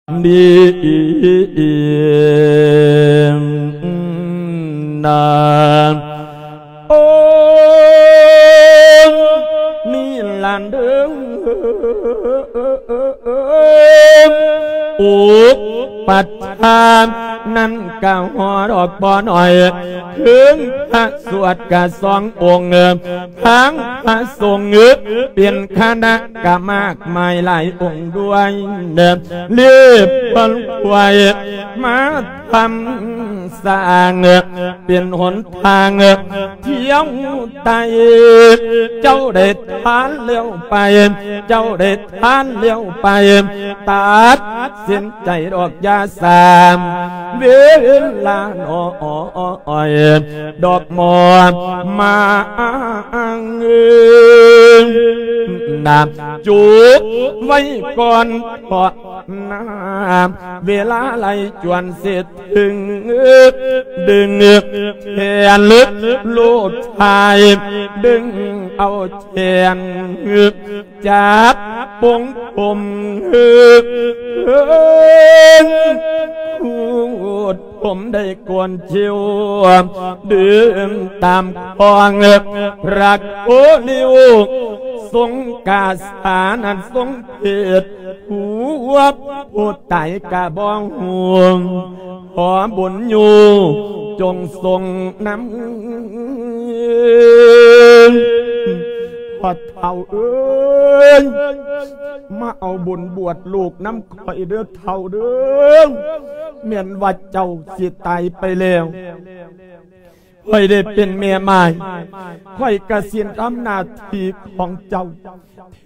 ນີ້ນາ ໂອ້ ນີ້ຫຼານເດີ ອຸປະຖານນັ້ນກະຮອດອອກບໍ່ໜ້ອຍ ເຖິງພະສວດກະສອງອົງ ທັງພະສົງເປັນຄະນະກະມາກມາຍຫຼາຍອົງດ້ວຍ ລຽບພັນໄວ້ມາທຳສ້າງ ເປັນຫົນທາງທ່ຽວໄຕ່ ເຈົ້າໄດ້ທານແລ້ວໄປ ເຈົ້າໄດ້ທານແລ້ວໄປ ຕັດສິນໃຈດອກຢ່າສາມເວລານ້ອຍ ດອກໝໍມາອ້າງນາ ຈູກໄວ້ກ່ອນເພາະ ນາ ເວລາໄລ່ຈວນເສດເຖິງ ດຶງແຂນລູກຊາຍ ດຶງເອົາແຂນ ຈັບປົງຜົມ ຂູດຜົມໄດ້ ກອນຄິວ ດື່ມຕາມຄອງ ພະໂຄລິວ ຊົງກາສານັ້ນຊົງເພດ ຫົວຜູ້ຕາຍກະບໍ່ຮູ້ ຂໍບຸນຢູ່ຈົ່ງຊົງນຳ ພໍ່ເຖົ້າເອີຍ ມາເອົາບຸນບວດລູກນຳຂ້ອຍເດີເຖົ້າເດີ ແມ່ນວ່າເຈົ້າຊິຕາຍໄປແລ້ວ ຂ້ອຍໄດ້ເປັນແມ່ໝ້າຍ ຂ້ອຍກະຊິທຳໜ້າທີ່ຂອງເຈົ້າ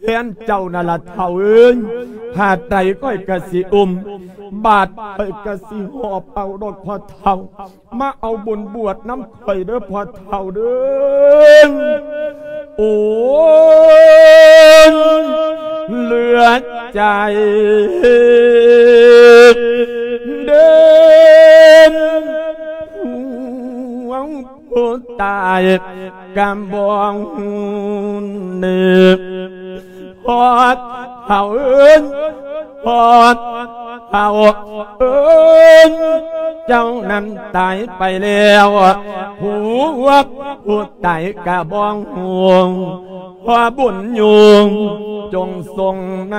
ແທນເຈົ້ານັ້ນລະເຖົ້າເອີຍ ຜ້າໄຕຂ້ອຍກະຊິອຸ້ມ ບາດຂ້ອຍກະຊິຫອບເອົາດອກພໍ່ເຖົ້າ ມາເອົາບຸນບວດນຳຂ້ອຍເດີພໍ່ເຖົ້າເດີ ໂອ້ ເຫຼືອໃຈເດີ ຜູ້ຕາຍກຳບອງເນີ ພໍ່ເຖົ້າເອີຍ ພໍ່ເຖົ້າເອີຍ ເຈົ້ານັ້ນຕາຍໄປແລ້ວ ຜູ້ ຜູ້ຕາຍກະບອງຮູ້ ຂໍບຸນຢູ່ຈົ່ງຊົງນ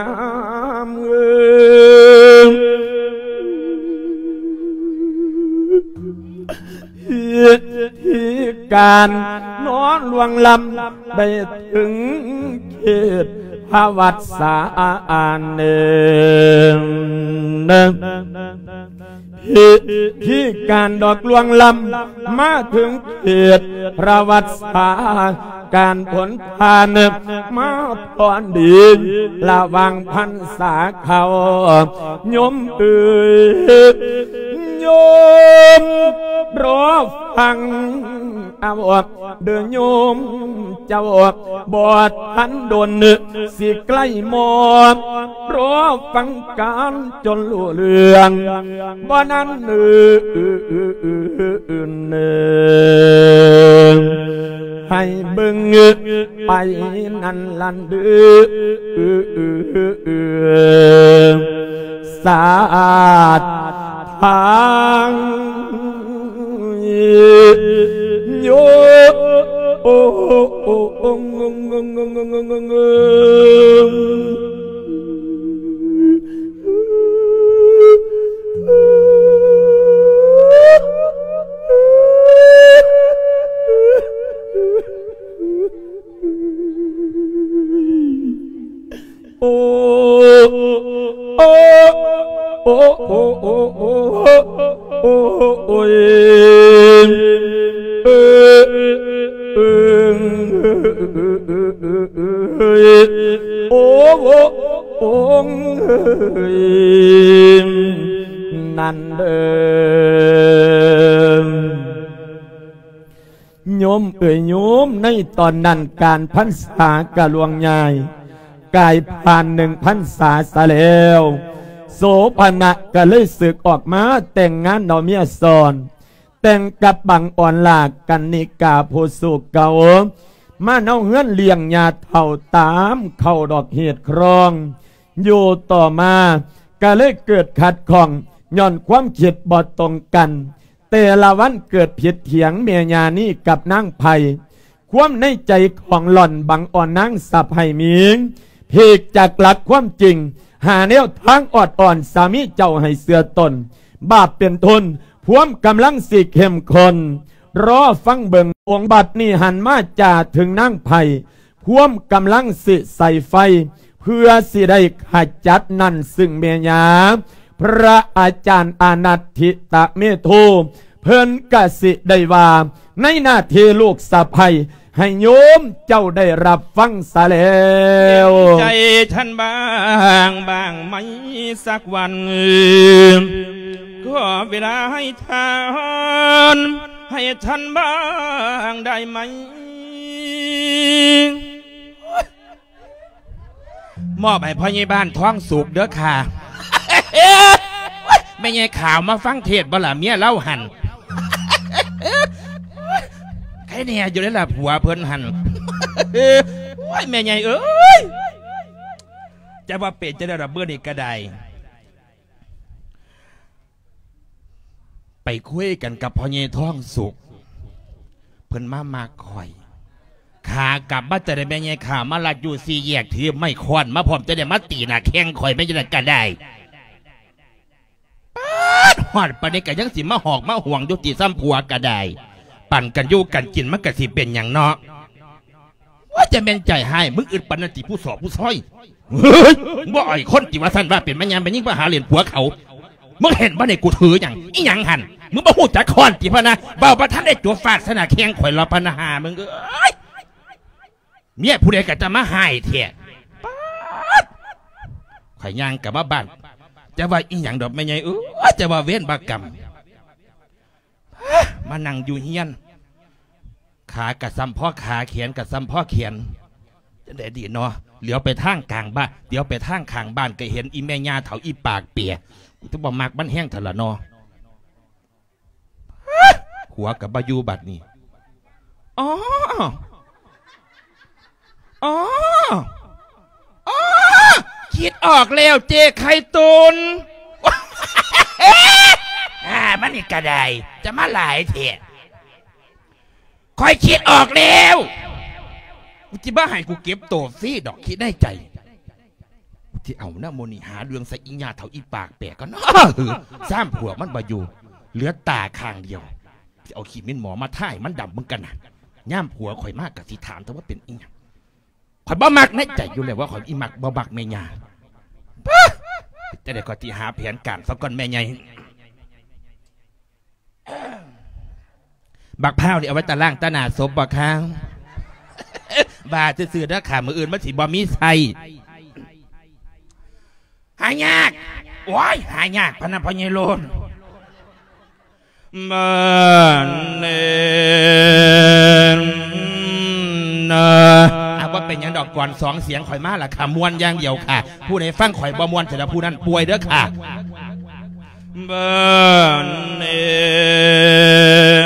ຳ ພິທີການນອນລ່ວງລຳໄດ້ເຖິງເຂດພະວັດສາອັນເໜຶ່ງ ພິທີການດອກລ່ວງລຳມາເຖິງເຂດພະວັດສາ ການຜົນຜ່ານມາພອນດີລະຫວ່າງພັນສາເຂົ້າ ໂຍມເອີຍ ໂຍມລໍຟັງເອົາເດີໂຍມເຈົ້າ ບໍ່ທັນດົນຊິໃກ້ມອບ ລໍຟັງການຈົນຮູ້ເລື່ອງ ບໍ່ນັ້ນເນີ ໃຫ້ເບິ່ງໄປນັ້ນລະເດີ ສາດທາງໂຍ ໂອ ໂອ ໂອ ໂອ ໂອ ໂອ ໂອ ໂອ ໂອ້ ໂອ້ ໂອ້ ໂອ້ ນັ້ນເດີ ໂຍມເອີຍໂຍມ ໃນຕອນນັ້ນການພັນສາກະລ່ວງຍ້າຍ ກາຍຜ່ານໜຶ່ງພັນສາສະແລ້ວ ໂສພະນະກະເລີຍສຶກອອກມາແຕ່ງງານເອົາເມຍຊ້ອນ ແຕ່ງກັບບັງອອນລາກກັນນິກາຜູ້ສູ່ເກົ່າ ມາເອົາເຮືອນລ້ຽງຍ່າເຖົ້າຕາມເຂົ້າດອກເຫດຄອງ ຢູ່ຕໍ່ມາ ກໍເລີຍເກີດຂັດຂ້ອງຍ້ອນຄວາມຄິດບໍ່ຕົງກັນ. ແຕ່ລະວັນເກີດຜິດຖຽງແມ່ຍ່ານີ້ກັບນາງໄພ. ຄວາມໃນໃຈຂອງຫຼ່ອນບັງອ່ອນນາງສະໃພ້ມີ ພີກຈາກຫຼັກຄວາມຈິງ ຫາແນວທາງອອດອອນສາມີເຈົ້າໃຫ້ເຊື່ອຕົນ. ບາບເປັນທຶນ ພວມກຳລັງຊິເຂັ້ມຂຸ້ນ. ລໍຟັງເບິ່ງ ອົງບັດນີ້ຫັນມາຈາເຖິງນາງໄພ. ພວມກຳລັງຊິໃສ່ໄຟ ເພື່ອຊິໄດ້ຂະຈັດນັ້ນ ຊຶ່ງແມ່ຍ່າ ພະອາຈານອະນັດທິຕະເມໂທ ເພິ່ນກະຊິໄດ້ວ່າ ໃນໜ້າທີ່ລູກສະໃພ້ ໃຫ້ໂຍມເຈົ້າໄດ້ຮັບຟັງຊະແລ້ວ. ໃຈທ່ານບ້າງ ບ້າງໄໝ ສັກວັນ ຂໍເວລາໃຫ້ທ່ານ ໃຫ້ທ່ານບ້າງໄດ້ໄໝ? ມອບໃຫ້ພໍ່ໃຫຍ່ບ້ານທອງສຸກເດີ້ຄ່ະ. ແມ່ໃຫຍ່ຂາວມາຟັງເທດບໍ່ລະ ເມຍລາວຫັ້ນ? ໃຄແນ່ຢູ່ເດ້ລະ ຜົວເພິ່ນຫັ້ນ. ໂອ້ຍ ແມ່ໃຫຍ່ເອີຍ ຈະວ່າເປັນຈັ່ງໃດລະ ມື້ນີ້ກະໄດ້ ໄປຄຸຍກັນກັບພໍ່ໃຫຍ່ທອງສຸກ ເພິ່ນມາມັກຂ້ອຍ. ຂາກັບມາຈະໄດ້ແມ່ໃຫຍ່ຂ້າມາລັດຢູ່ສີ່ແຍກ ຖືໄມ້ຄ້ອນມາພ້ອມ ຈະໄດ້ມາຕີໜ້າແຂ້ງຂ້ອຍ ແມ່ນຈັ່ງໃດກະໄດ້. ປາດ ຮອດປານນີ້ກະຍັງຊິມາຫອກມາຫວງຢູ່ຕິ ຊ້ຳຜົວກະໄດ້. ປັນກັນຢູ່ກັນກິນມັນກະຊິເປັນຫຍັງເນາະ? ວ່າຈະແມ່ນໃຈຮ້າຍ ມຶງອຶດປານນັ້ນຕິ ຜູ້ສໍ້ຜູ້ຊອຍ? ເຮີ້ຍ ບໍ່ອາຍຄົນຕິ ວ່າຊັ້ນວ່າເປັນແມ່ຍ່າແມ່ຍິງ ມາຫາຫຼິ້ນຜົວເຂົາ. ມຶງເຫັນບໍ່ນີ້ ກູຖືຫຍັງ? ອີຫຍັງຫັ້ນ? ມຶງບໍ່ຮູ້ຈັກຄ້ອນຕິ ພະນະ? ເວົ້າບໍ່ທັນໄດ້ຈົບ ຟາດໃສ່ໜ້າແຂ້ງຂ້ອຍລະ ພະນະ ຫາມຶງເອີຍ. ເມຍຜູ້ໃດກະຈະມາຮ້າຍແທ້. ປາດ ຂ້ອຍຍ່າງກັບມາບ້ານ ຈະວ່າອີຫຍັງດອກແມ່ໃຫຍ່ເອີຍ ຈະວ່າເວນວ່າກຳ. ມານັ່ງຢູ່ເຮືອນ ຂາກະຊ້ຳພໍຂາ ແຂນກະຊ້ຳພໍແຂນ ຈັ່ງໃດດີເນາະ? ຫຼຽວໄປທາງກາງບ້ານ ຫຼຽວໄປທາງຂ້າງບ້ານ ກະເຫັນອີແມ່ຍ່າເຖົ້າອີປາກເປຍ ກູຈະບໍ່ມັກມັນແຮງເທື່ອລະເນາະ. ຜົວກະບໍ່ຢູ່ບັດນີ້. ອໍ ອໍ ອໍ ຄິດອອກແລ້ວເຈ້ ໄຂ່ຕຸ່ນ. ອາ ມັນນີ້ກະໄດ້ ຈະມາຫຼາຍແທ້. ຂ້ອຍຄິດອອກແລ້ວ ມຶງຊິມາໃຫ້ກູເກັບໂຕຟຣີດອກ ຄິດໃນໃຈ. ຊິເອົານະ ມື້ນີ້ຫາເລື່ອງໃສ່ອີຍ່າເຖົ້າອີປາກແປກກ່ອນເນາະ. ຊ້ຳຜົວມັນບໍ່ຢູ່ ເຫຼືອຕາຂ້າງດຽວ ຊິເອົາຂີ້ໝິ່ນໝໍມາທາໃຫ້ມັນດຳເບິ່ງກັນນະ. ຍາມຜົວຂ້ອຍມາກະຊິຖາມແຕ່ວ່າເປັນອີຫຍັງ. ຂ້ອຍບໍ່ມັກໃນໃຈຢູ່ແລ້ວວ່າ ຂ້ອຍອີມັກ ບໍ່ມັກແມ່ຍ່າ. ຈັ່ງໃດຂ້ອຍຊິຫາແຜນການຊະກ່ອນແມ່ໃຫຍ່. ບັກພ້າວນີ້ເອົາໄວ້ຕາລ້າງຕາໜ້າສົບບໍ່ຄະ? ວ່າຊື່ໆເດີຄ່ະ ມື້ອື່ນມັນຊິບໍ່ມີໃຊ້. ຫາຍາກ ໂອ້ຍ ຫາຍາກ ພະນະ ພໍ່ໃຫຍ່ໂລນ. ບ້ານເນນນະ ອ່າ ບໍ່ເປັນຫຍັງດອກ ກອນສອງສຽງຂ້ອຍມາລະຄ່ະ ມ່ວນຢ່າງດຽວຄ່ະ. ຜູ້ໃດຟັງຂ້ອຍບໍ່ມ່ວນ ສະນັ້ນຜູ້ນັ້ນປ່ວຍເດີຄ່ະ. ບ້ານເອ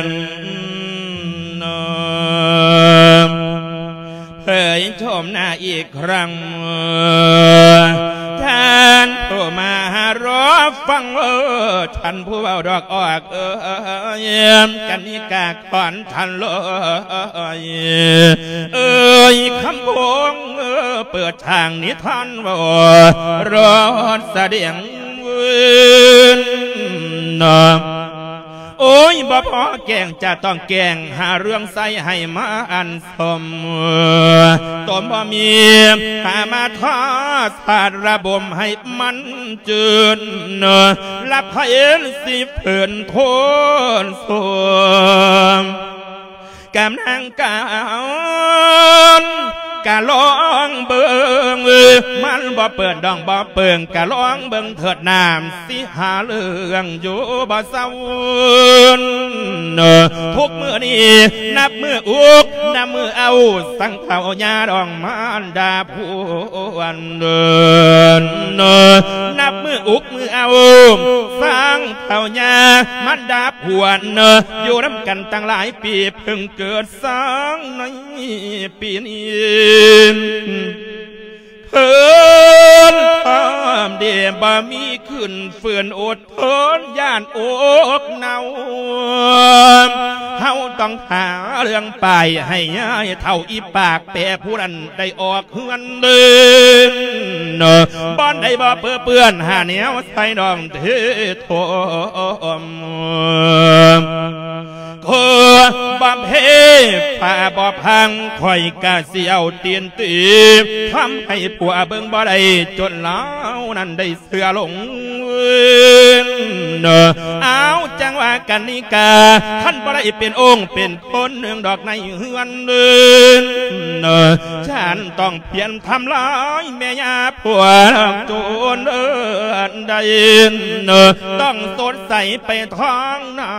ນນາ ເຜີຍໂສມໜ້າອີກຄັ້ງ ທ່ານຜູ້ມາລໍຟັງ ທ່ານຜູ້ເວົ້າດອກອອກເອີຍ ກັນນິກາ ຂອນທ່ານລອຍເອີຍ ຄຳພົງເປີດທາງນິທານເວົ້າ ລອດສະແດງວືນນາ. ໂອ້ຍ ບໍ່ພໍແກ້ງ ຈະຕ້ອງແກ້ງ ຫາເລື່ອງໃສ່ໃຫ້ມາອັນສົມ ຕົມບໍ່ມີ ຫາມາທາສາດລະບົມໃຫ້ມັນຈືນ ລະໄພຊິເພິ່ນໂທນສວມ ກຳນາງການ ກະລອງເບິ່ງ ມັນບໍ່ເປີດດອງບໍ່ເປິງ ກະລອງເບິ່ງເຖີດ ນ້ຳຊິຫາເລື່ອງຢູ່ບໍ່ເຊົາ. ທຸກມື້ນີ້ນັບມື້ອຸກ ນັບມື້ເອົາ ສັງເຖົ້າຍ່າດອງມານດາພວນ ນັບມື້ອຸກມື້ເອົາ ສັງເຖົ້າຍ່າມານດາພວນ ຢູ່ນຳກັນຕັ້ງຫຼາຍປີ ເພິ່ງເກີດສັງໃນປີນີ້. ເອີນພ້ອມດີບໍ່ມີຂຶ້ນ ຝືນອົດທົນຢ້ານອົກເນົ່າ. ເຮົາຕ້ອງຫາເລື່ອງປາຍໃຫ້ຍາຍເຖົ້າອີປາກແປຜູ້ນັ້ນໄດ້ອອກເຮືອນເດີ. ບ່ອນໃດບໍ່ເປິເປື້ອນ ຫາແນວໃສ່ດອງເທຖົມ. ກໍບໍ່ເພ ຟ້າບໍ່ພັງ ຂ້ອຍກະຊິເອົາຕີນຕີ ທຳໃຫ້ຜົວເບິ່ງບໍ່ໄດ້ ຈົນລາວນັ້ນໄດ້ເຊື່ອຫຼົງ. ເອົາ ຈັ່ງວ່າກັນນິກາ ຄັນບໍ່ໄດ້ເປັນອົງເປັນຄົນໜຶ່ງດອກໃນເຮືອນ ເອີ ຈະຕ້ອງພຽນທຳລາຍແມ່ຍ່າຜົວຈົນໄດ້ ຕ້ອງສົດໃສໄປທາງໜ້າ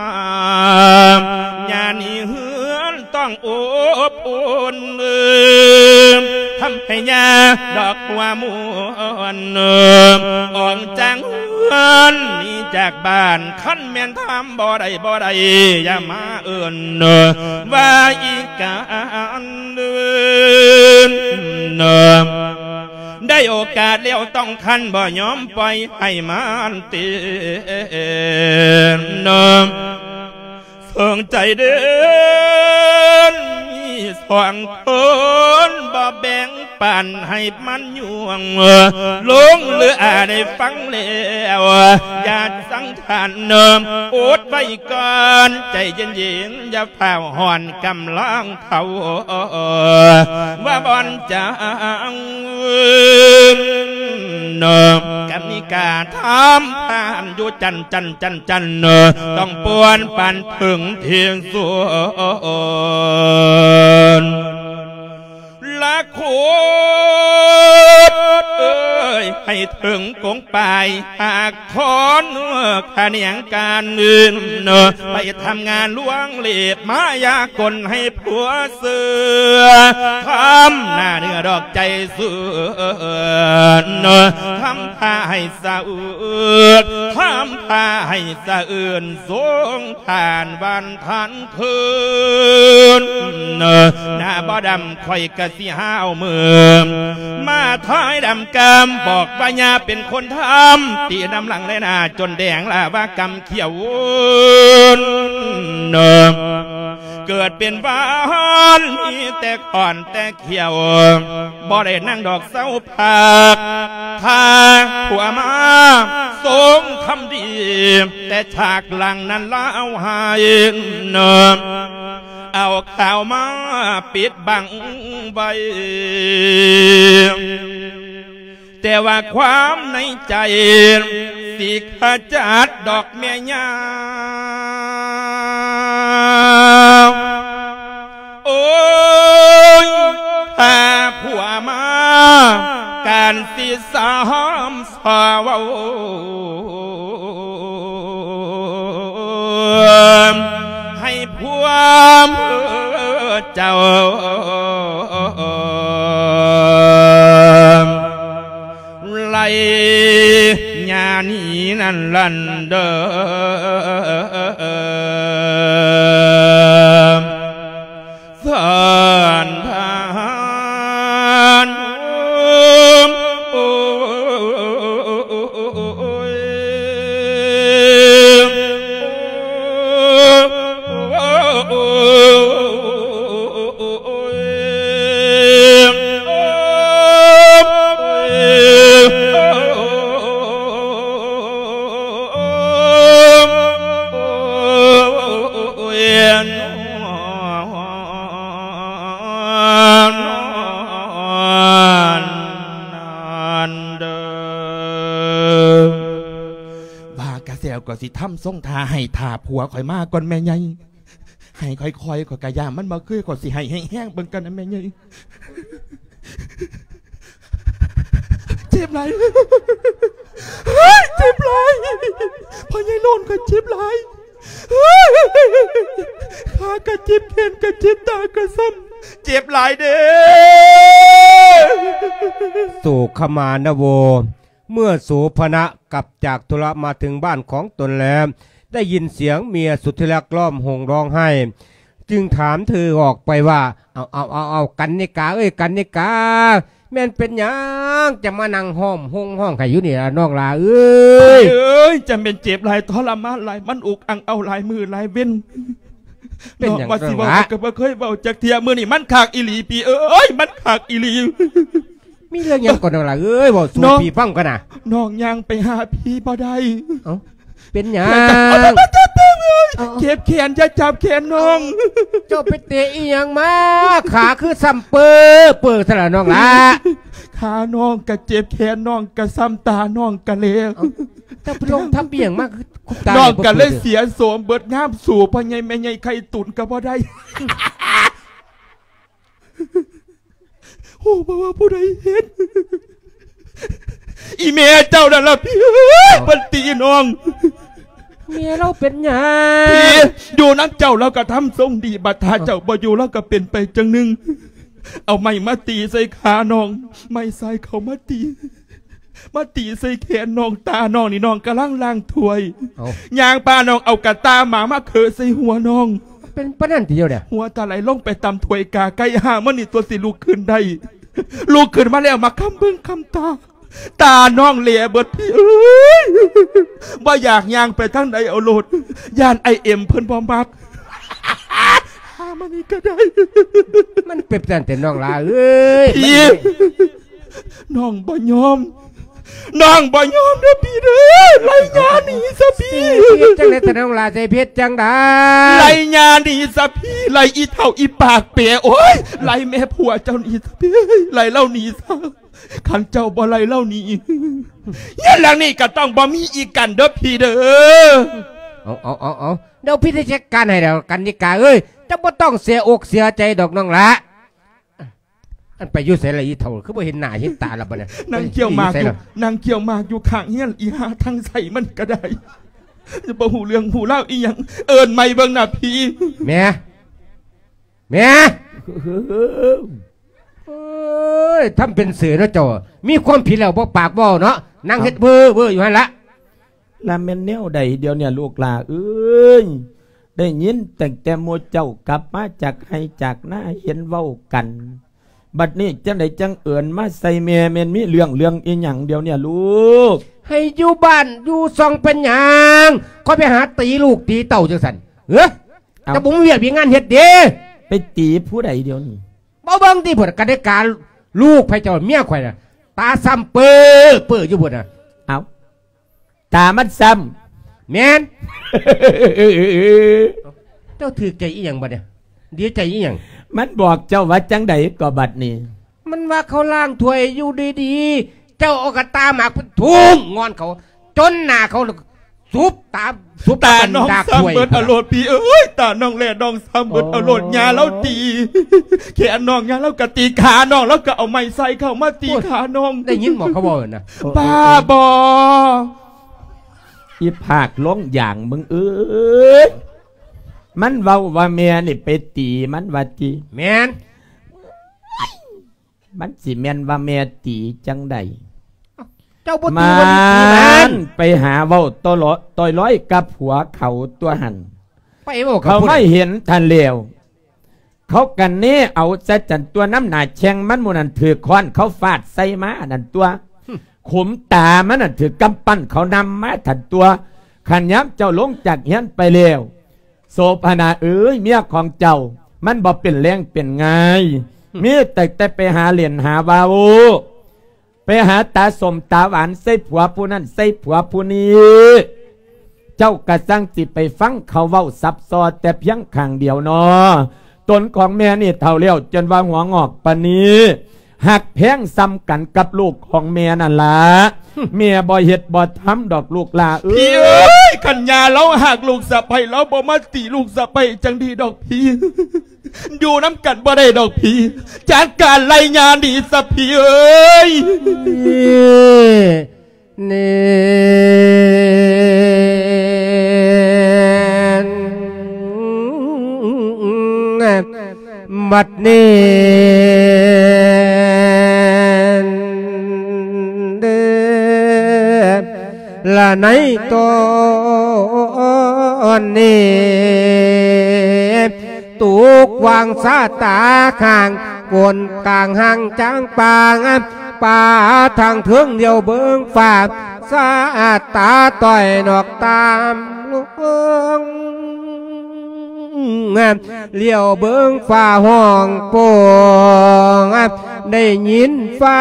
ຍານີ້ເຮືອນຕ້ອງອົບອຸ່ນ ທຳໃຫ້ຍາດອກຫົວມ່ວນ ອອກຈາກເຮືອນໜີຈາກບ້ານ ຄັນແມ່ນທຳບໍ່ໄດ້ ບໍ່ໄດ້ ຢ່າມາເອີ້ນວ່າອີການ ໄດ້ໂອກາດແລ້ວຕ້ອງຂັນ ບໍ່ຍອມປ່ອຍໃຫ້ມັນເຕັນ ເຊິ່ງໃຈເດີນມີສອງຄົນ ບໍ່ແບ່ງປັນໃຫ້ມັນຍວງ ລົງເຫຼືອໄດ້ຟັງແລ້ວ ຢ່າສັງ ທ່ານເນີມ ອົດໄວ້ກ່ອນ ໃຈເຢັນໆ ຢ່າຟ້າວຮ້ອນ ກຳລັງເຖົ້າ ວ່າບ່ອນຈາງ ເນີມ ກະມີກາທຳທ່ານຢູ່ຈັນ ຈັນ ຈັນ ຈັນ ເນີມ ຕ້ອງປ່ວນປານເພິ່ງທີ່ສຸດ. ລະຄົນເອີຍ ໃຫ້ເຖິງກົງປາຍ ຫາກຄອນຂະແໜງການອື່ນ ໄປທຳງານລວງເລດມາຢາກົນໃຫ້ຜົວເຊື່ອ ທຳໜ້າເໜືອດອກໃຈເຊື່ອ ທຳທ່າໃຫ້ສະອຶກ ທຳທ່າໃຫ້ສະເອື່ນ ສົງທ່ານວັນທ່ານ ຄືນ ໜ້າບໍ່ດຳຂ້ອຍກະຊິຫາວມື ມາທ້າຍດຳກຳ ບອກວ່າຍ່າເປັນຄົນທຳ ຕີນຳຫຼັງແລະໜ້າຈົນແດງລາວາກຳຂຽວ ເກີດເປັນວານມີແຕ່ຂ້ອນແຕ່ຂຽວ ບໍ່ໄດ້ນັ່ງດອກເຊົາ ພາກ ພາຜົວມາ ຊົງທຳດີ ແຕ່ສາກຫຼັງນັ້ນລາວໃຫ້ ເອົາຂ່າວມາປິດບັງໄວ້ ແຕ່ວ່າຄວາມໃນໃຈ ຊິຂະຈັດດອກແມ່ຍ່າ ໂອ້ຍ ຖ້າຜົວມາ ການຊິສາມສາເວົ້າ ໃຫ້ຜົວເຈົ້າ ໄລ່ຍ່າໜີນັ້ນຫັ້ນເດີ ທ່ານ ທ່ານ ໂອ້ຍ. ວ່າກະແຊວກໍຊິທຳຊົງທ່າໃຫ້ ຖ້າຜົວຂ້ອຍມາກ່ອນແມ່ໃຫຍ່ ໃຫ້ຄ່ອຍໆ ຂ້ອຍກະຢ້ານມັນບໍ່ຄື ຂ້ອຍຊິໃຫ້ແຮງໆ ເບິ່ງກ່ອນນະແມ່ໃຫຍ່. ເຈັບຫຼາຍ ເຈັບຫຼາຍ ພໍ່ໃຫຍ່ໂລນຂ້ອຍເຈັບຫຼາຍ ຂາກະເຈັບ ແຂນກະເຈັບ ຕາກະຊ້ຳ ເຈັບຫຼາຍເດ້. ໂສຂະມານະໂວ ເມື່ອໂສພະນະກັບຈາກທຸລະມາເຖິງບ້ານຂອງຕົນແລ້ວ ໄດ້ຍິນສຽງເມຍສຸດທີ່ລັກຮ້ອງໂຫຍຮ້ອງໄຫ້ ຈຶ່ງຖາມເທີອອກໄປວ່າ ເອົາ ເອົາ ເອົາ ເອົາ ກັນນິກາເອີຍ ກັນນິກາ ແມ່ນເປັນຫຍັງຈະມານັ່ງຮ້ອງໂຮງຮ້ອງໄຫ້ຢູ່ນີ້ລະນ້ອງຫຼ້າເອີຍ? ເອີຍ ຈະແມ່ນເຈັບຫຼາຍທໍລະມານຫຼາຍ ມັນອຸກອັ່ງເອົາຫຼາຍມື້ຫຼາຍເວັນ. ເປັນຫຍັງ ນ້ອງວ່າຊິເວົ້າ ນ້ອງຫຼ້າ? ກໍບໍ່ເຄີຍເວົ້າຈັກເທື່ອ ມື້ນີ້ມັນຄັກອີ່ຫຼີພີ່ເອີຍ ມັນຄັກອີ່ຫຼີ. ມີເລື່ອງຫຍັງກໍນ້ອງຫຼ້າເອີຍ ເວົ້າສູ່ ນ້ອງ ພີ່ຟັງກ່ອນນະ. ນ້ອງຍ່າງໄປຫາພີ່ບໍ່ໄດ້. ເອົ້າ ເປັນຫຍັງ? ເຈັບແຂນ ຢ່າຈັບແຂນນ້ອງ. ເຈົ້າໄປເຕະອີ່ຫຍັງມາ ຂາຄືຊ້ຳເປີເປີຊັ້ນລະນ້ອງຫຼ້າ? ຂານ້ອງກະເຈັບ ແຂນນ້ອງກະຊ້ຳ ຕານ້ອງກະແຫຼ. ເອົ້າ ເຈົ້າໄປລົງທັບອີ່ຫຍັງມາ ຄືຕານ້ອງກະເລີຍເສຍໂສມເບິດ ງາມສູ່ພໍ່ໃຫຍ່ແມ່ໃຫຍ່ໄຂ່ຕຸນກະບໍ່ໄດ້. ຮູ້ບໍ່ວ່າຜູ້ໃດເຮັດ? ອີ່ແມ່ເຈົ້ານັ້ນລະພີ່ເອີຍ ເພິ່ນຕີນ້ອງ. ເມຍລາວເປັນຫຍັງ? ພີ່ ຢູ່ນຳເຈົ້າລາວກະທຳຊົງດີ ບັດຖ້າເຈົ້າບໍ່ຢູ່ລາວກະເປັນໄປຈັ່ງໜຶ່ງ. ເອົາໄມ້ມາຕີໃສ່ຂານ້ອງ ໄມ້ຊາຍເຂົາມາຕີ ມາຕີໃສ່ແຂນນ້ອງ ຕານ້ອງນີ້ ນ້ອງກຳລັງລ້າງຖ້ວຍ. ເອົ້າ ຍ່າງພານ້ອງເອົາກະຕ່າໝາມາເຄາະໃສ່ຫົວນ້ອງ. ເປັນປານນັ້ນຕິດຽວນີ້? ຫົວຕາໄຫຼລົງໄປຕຳຖ້ວຍກາໄກ່ ຫາມື້ນີ້ຕົວະຊິລຸກຂຶ້ນໄດ້. ລຸກຂຶ້ນມາແລ້ວມາຄຳເບິ່ງຄຳຕາ ຕານ້ອງແຫຼເບິດພີ່ເອີຍ. ບໍ່ຢາກຍ່າງໄປທາງໃດເອົາໂລດ ຢ້ານອ້າຍເອັມເພິ່ນບໍ່ມັກ. ຫາມານີ້ກະໄດ້. ມັນເປັນຈັ່ງຊັ້ນແຕ່ນ້ອງຫຼ້າເອີຍ. ພີ່ ນ້ອງບໍ່ຍອມ ນ້ອງບໍ່ຍອມເດີພີ່ເດີ. ໄລ່ຍ່າໜີຊະພີ່. ຊິເຮັດຈັ່ງໃດແຕ່ນ້ອງຫຼ້າ ຊິເຮັດຈັ່ງໃດ? ໄລ່ຍ່າໜີຊະພີ່ ໄລ່ອີ່ເຖົ້າອີ່ປາກເປ. ໂອ້ຍ ໄລ່ແມ່ຜົວເຈົ້າໜີຊະພີ່ ໄລ່ລາວໜີຊະ. ຄັນເຈົ້າບໍ່ໄລ່ລາວໜີ ເຮືອນຫຼັງນີ້ກະຕ້ອງບໍ່ມີອີກກັນເດີພີ່ເດີ. ເອົາ ເອົາ ເອົາ ເອົາ ດຽວພີ່ຊິຈັດການໃຫ້ດອກກັນນິກາເອີຍ. ເຈົ້າບໍ່ຕ້ອງເສຍອົກເສຍໃຈດອກນ້ອງຫຼ້າ. ອັນໄປຢູ່ໃສລະອີ່ເຖົ້າ ຄືບໍ່ເຫັນໜ້າເຫັນຕາລະບັດນີ້? ນັ່ງກ່ຽວໝາກຢູ່ ນັ່ງກ່ຽວໝາກຢູ່ຂ້າງເຮືອນ ອີ່ຫ່າທາງໃສມັນກະໄດ້ ບໍ່ຮູ້ເລື່ອງຮູ້ລາວອີ່ຫຍັງ. ເອີ້ນໃໝ່ເບິ່ງນະພີ່. ແມ່ ແມ່ ເອີຍ ທຳເປັນເສີເນາະເຈົ້າ ມີຄວາມຜິດແລ້ວບໍ່ປາກບໍ່ເວົ້າເນາະ ນັ່ງເຮັດເວີໆຢູ່ຫັ້ນລະ. ລະແມ່ນແນວໃດດຽວນີ້ລູກຫຼ້າເອີຍ? ໄດ້ຍິນຕັ້ງແຕ່ໝູ່ເຈົ້າກັບມາຈາກໄຮ່ຈາກນາເຫັນເວົ້າກັນ ບັດນີ້ຈັ່ງໃດຈັ່ງເອີ້ນມາໃສ່ແມ່ ແມ່ນມີເລື່ອງ ເລື່ອງອີ່ຫຍັງດຽວນີ້ລູກ? ໃຫ້ຢູ່ບ້ານຢູ່ຊ່ອງເປັນຫຍັງ? ຂ້ອຍໄປຫາຕີລູກຕີເຕົ້າຈັ່ງຊັ້ນ ເອີ? ເຈົ້າບໍ່ມີວຽກມີງານເຮັດເດ? ໄປຕີຜູ້ໃດດຽວນີ້? ບໍ່ເບິ່ງຕິພຸ້ນ ກະໄດ້ກາລູກໃຜເຈົ້າເມຍຂ້ອຍນະ ຕາຊ້ຳເປີເປີຢູ່ພຸ້ນນະ. ເອົ້າ ຕາມັນຊ້ຳ. ແມ່ນ. ເຈົ້າຖືກໃຈອີ່ຫຍັງບັດນີ້? ດີໃຈອີ່ຫຍັງ? ມັນບອກເຈົ້າວ່າຈັ່ງໃດກໍບັດນີ້? ມັນວ່າເຂົາລ້າງຖ້ວຍຢູ່ດີໆ ເຈົ້າເອົາກະຕ່າໝາກໄປທຸ່ງງອນເຂົາ ຈົນໜ້າເຂົາສຸບຕາ ສຸບຕານ້ອງຊ້ຳເບິດເອົາໂລດ ພີ່ເອີຍ ຕານ້ອງແລນ້ອງຊ້ຳເບິດເອົາໂລດ. ໂອ້ ຍ່າລາວຕີແຂນນ້ອງ ຍ່າລາວກະຕີຂານ້ອງ ລາວກະເອົາໄມ້ຊາຍເຂົ້າມາຕີຂານ້ອງ. ໄດ້ຍິນບໍ່ເຂົາເວົ້ານະ? ບ້າບໍ່ ອີພາກລົງຢາງມຶງເອີຍ ມັນເວົ້າວ່າແມ່ນີ້ໄປຕີມັນວ່າຕິ? ແມ່ນ. ມັນຊິແມ່ນວ່າແມ່ຕີຈັ່ງໃດ? ເຈົ້າບໍ່ຕີ ມັນ ມັນໄປຫາເວົ້າຕໍ່ລອຍກັບຜົວເຂົາຕົວຫັ້ນ ໄປເວົ້າກັບ ເຂົາມາເຫັນທ່ານແລ້ວ ເຂົາກະເນເອົາໃສ່ຫັ້ນຕົວ ນຳໜ້າແຂ້ງມັນໝູ່ນັ້ນຖືກຄ້ອນເຂົາຟາດໃສ່ມາຫັ້ນຕົວ ຫຶ ຂຸມຕາມັນນັ້ນຖືກກຳປັ້ນເຂົານຳມາຫັ້ນຕົວ. ຄັນຍາມເຈົ້າລົງຈາກເຮືອນໄປແລ້ວ ໂສພະນາເອີຍ ເມຍຂອງເຈົ້າມັນບໍ່ເປັນແລງເປັນງ່າຍ ມີແຕ່ ແຕ່ໄປຫາຫຼິ້ນຫາເວົ້າ ໄປຫາຕາສົ້ມຕາຫວານໃສ່ຜົວຜູ້ນັ້ນໃສ່ຜົວຜູ້ນີ້ ເຈົ້າກະຊ່າງຊິໄປຟັງເຂົາເວົ້າສັບຊໍແຕ່ພຽງຂ້າງດຽວນໍ. ຕົນຂອງແມ່ນີ້ເຖົ້າແລ້ວ ຈົນວ່າຫົວງອກປານນີ້ ຮັກແພງສ່ຳກັນກັບລູກຂອງແມ່ນັ້ນລະ. ຫຶ ແມ່ບໍ່ເຮັດບໍ່ທຳດອກລູກຫຼ້າເອີຍ. ພີ່ເອີຍ ຄັນຍ່າລາວຮັກລູກສະໃພ້ ລາວບໍ່ມາຕີລູກສະໃພ້ຈັ່ງດີດອກພີ່. ຢູ່ນຳກັນບໍ່ໄດ້ດອກພີ່. ຈັດການໄລ່ຍ່າໜີຊະພີ່ເອີຍ. ແມ່ນ ບັດນີ້ເດີ ລະໃນຕອນນີ້ ຕົກວາງຊາຕາຂ້າງ ບົນກາງຮ່າງຈາງປາງ ປາທາງເທິງຫຼຽວເບິ່ງຟ້າ ສາຍຕາຕ້ອຍນອກຕາມລົງ ຫຼຽວເບິ່ງຟ້າຮ້ອງໂປ່ງ ໄດ້ຍິນຟ້າ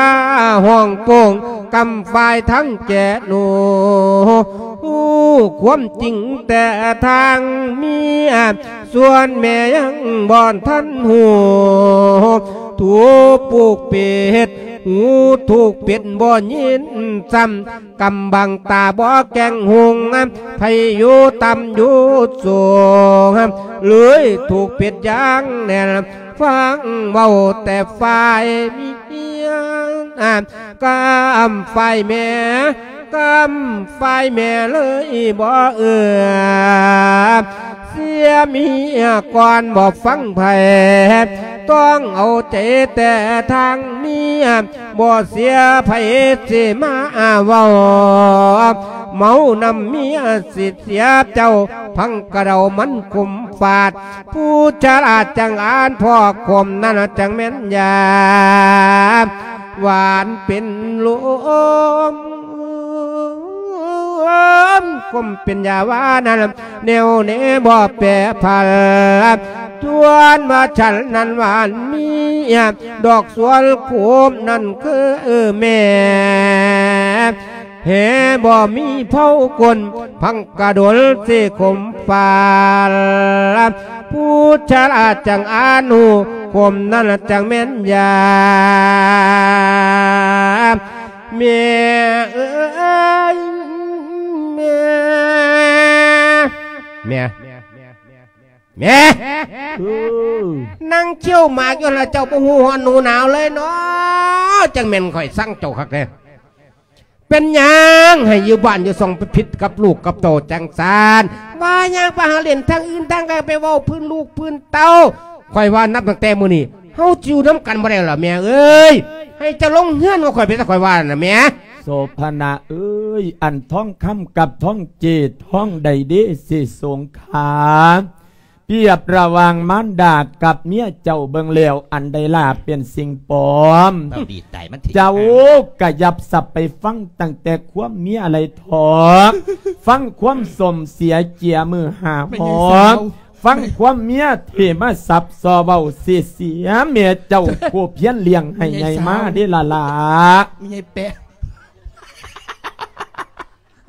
ຮ້ອງໂປ່ງ ກຳຝ້າຍທັງແກ່ໜູ ຮູ້ຄວາມຈິງແຕ່ທາງເມຍ ສ່ວນແມ່ຍັງບໍ່ທັນຮູ້ ຖືກປູກປິດ ຫູຖືກປິດບໍ່ຍິນຊ້ຳ ກຳບັງຕາບໍ່ແກ້ງຮຸ່ງ ໃຜຢູ່ຕ່ຳຢູ່ສູງ ເລີຍຖືກປິດຢ່າງແໜ້ນ ຟັງເວົ້າແຕ່ຝ່າຍເມຍ ກຳຝ່າຍແມ່ ກຳຝ່າຍແມ່ເລີຍບໍ່ເອື້ອ ເສຍເມຍກ່ອນບໍ່ຟັງໃຜ ຕ້ອງເອົາໃຈແຕ່ທາງເມຍ ບໍ່ເສຍໃຜຊິມາເວົ້າ ເມົານຳເມຍຊິເສຍເຈົ້າ ພັງກະເດົາມັນຂົມຟາດ ຜູ້ຊະລາຈັ່ງອ່ານ ພໍ່ຂົມນັ້ນຈັ່ງແມ່ນຢາ ຫວານເປັນລົມ ຂົມເປັນຢາ ຫວານນັ້ນແນ່ວແນ່ບໍ່ແປຜັນ ຈວນວ່າສັນນັ້ນຫວານເມຍ ດອກສວນຂົມນັ້ນຄືແມ່ ແຮ່ບໍ່ມີເຜົາກົ້ນ ພັງກະດົນຊິຂົມຟາດ ຜູ້ຊະລາຈັ່ງອ່ານຮູ້ ຂົມນັ້ນຈັ່ງແມ່ນຢາ ແມ່ເອີຍ ແມ່ ແມ່ ແມ່ ເອີ ນັ່ງຂຽວໝາກຢູ່ຫັ້ນລະ ເຈົ້າບໍ່ຮູ້ຮ້ອນຮູ້ໜາວເລີຍເນາະ ຈັ່ງແມ່ນຂ້ອຍຊັງເຈົ້າຄັກແທ້. ເປັນຫຍັງໃຫ້ຢູ່ບ້ານຢູ່ຊ່ອງໄປຜິດກັບລູກກັບເຕົ້າຈັ່ງຊັ້ນ? ວ່າຫຍັງໄປຫາຫຼິ້ນທາງອື່ນທາງໃດ ໄປເວົ້າພື້ນລູກພື້ນເຕົ້າ. ຂ້ອຍວ່ານັບຕັ້ງແຕ່ມື້ນີ້ ເຮົາຈະຢູ່ນຳກັນບໍ່ໄດ້ແລ້ວແມ່ເອີຍ. ໃຫ້ເຈົ້າລົງເຮືອນຂອງຂ້ອຍໄປຊະ ຂ້ອຍວ່ານັ້ນນະແມ່. ໂສພະນະເອີຍ ອັນທອງຄຳກັບທອງເຈດ ທອງໃດເດ ເສສົງຄາ ປຽບລະຫວ່າງມານດາກັບເມຍເຈົ້າເບິ່ງແລ້ວ ອັນໃດລະເປັນສິ່ງປອມ. ເຈົ້າດີໃຈມັນເຖະ ເຈົ້າກະຢ່າສັບໄປຟັງຕັ້ງແຕ່ຄວາມເມຍໄລ່ຖອກ ຟັງຄວາມສົມເສຍເຈຍມື້ຫ້າຫອມ ຟັງຄວາມເມຍເທມາສັບສໍເວົ້າເສຍເສຍ ແມ່ເຈົ້າຜູ້ພຽນລ້ຽງໃຫ້ໃຫຍ່ມາເດລະລະ ແມ່ໃຫຍ່ແປະ.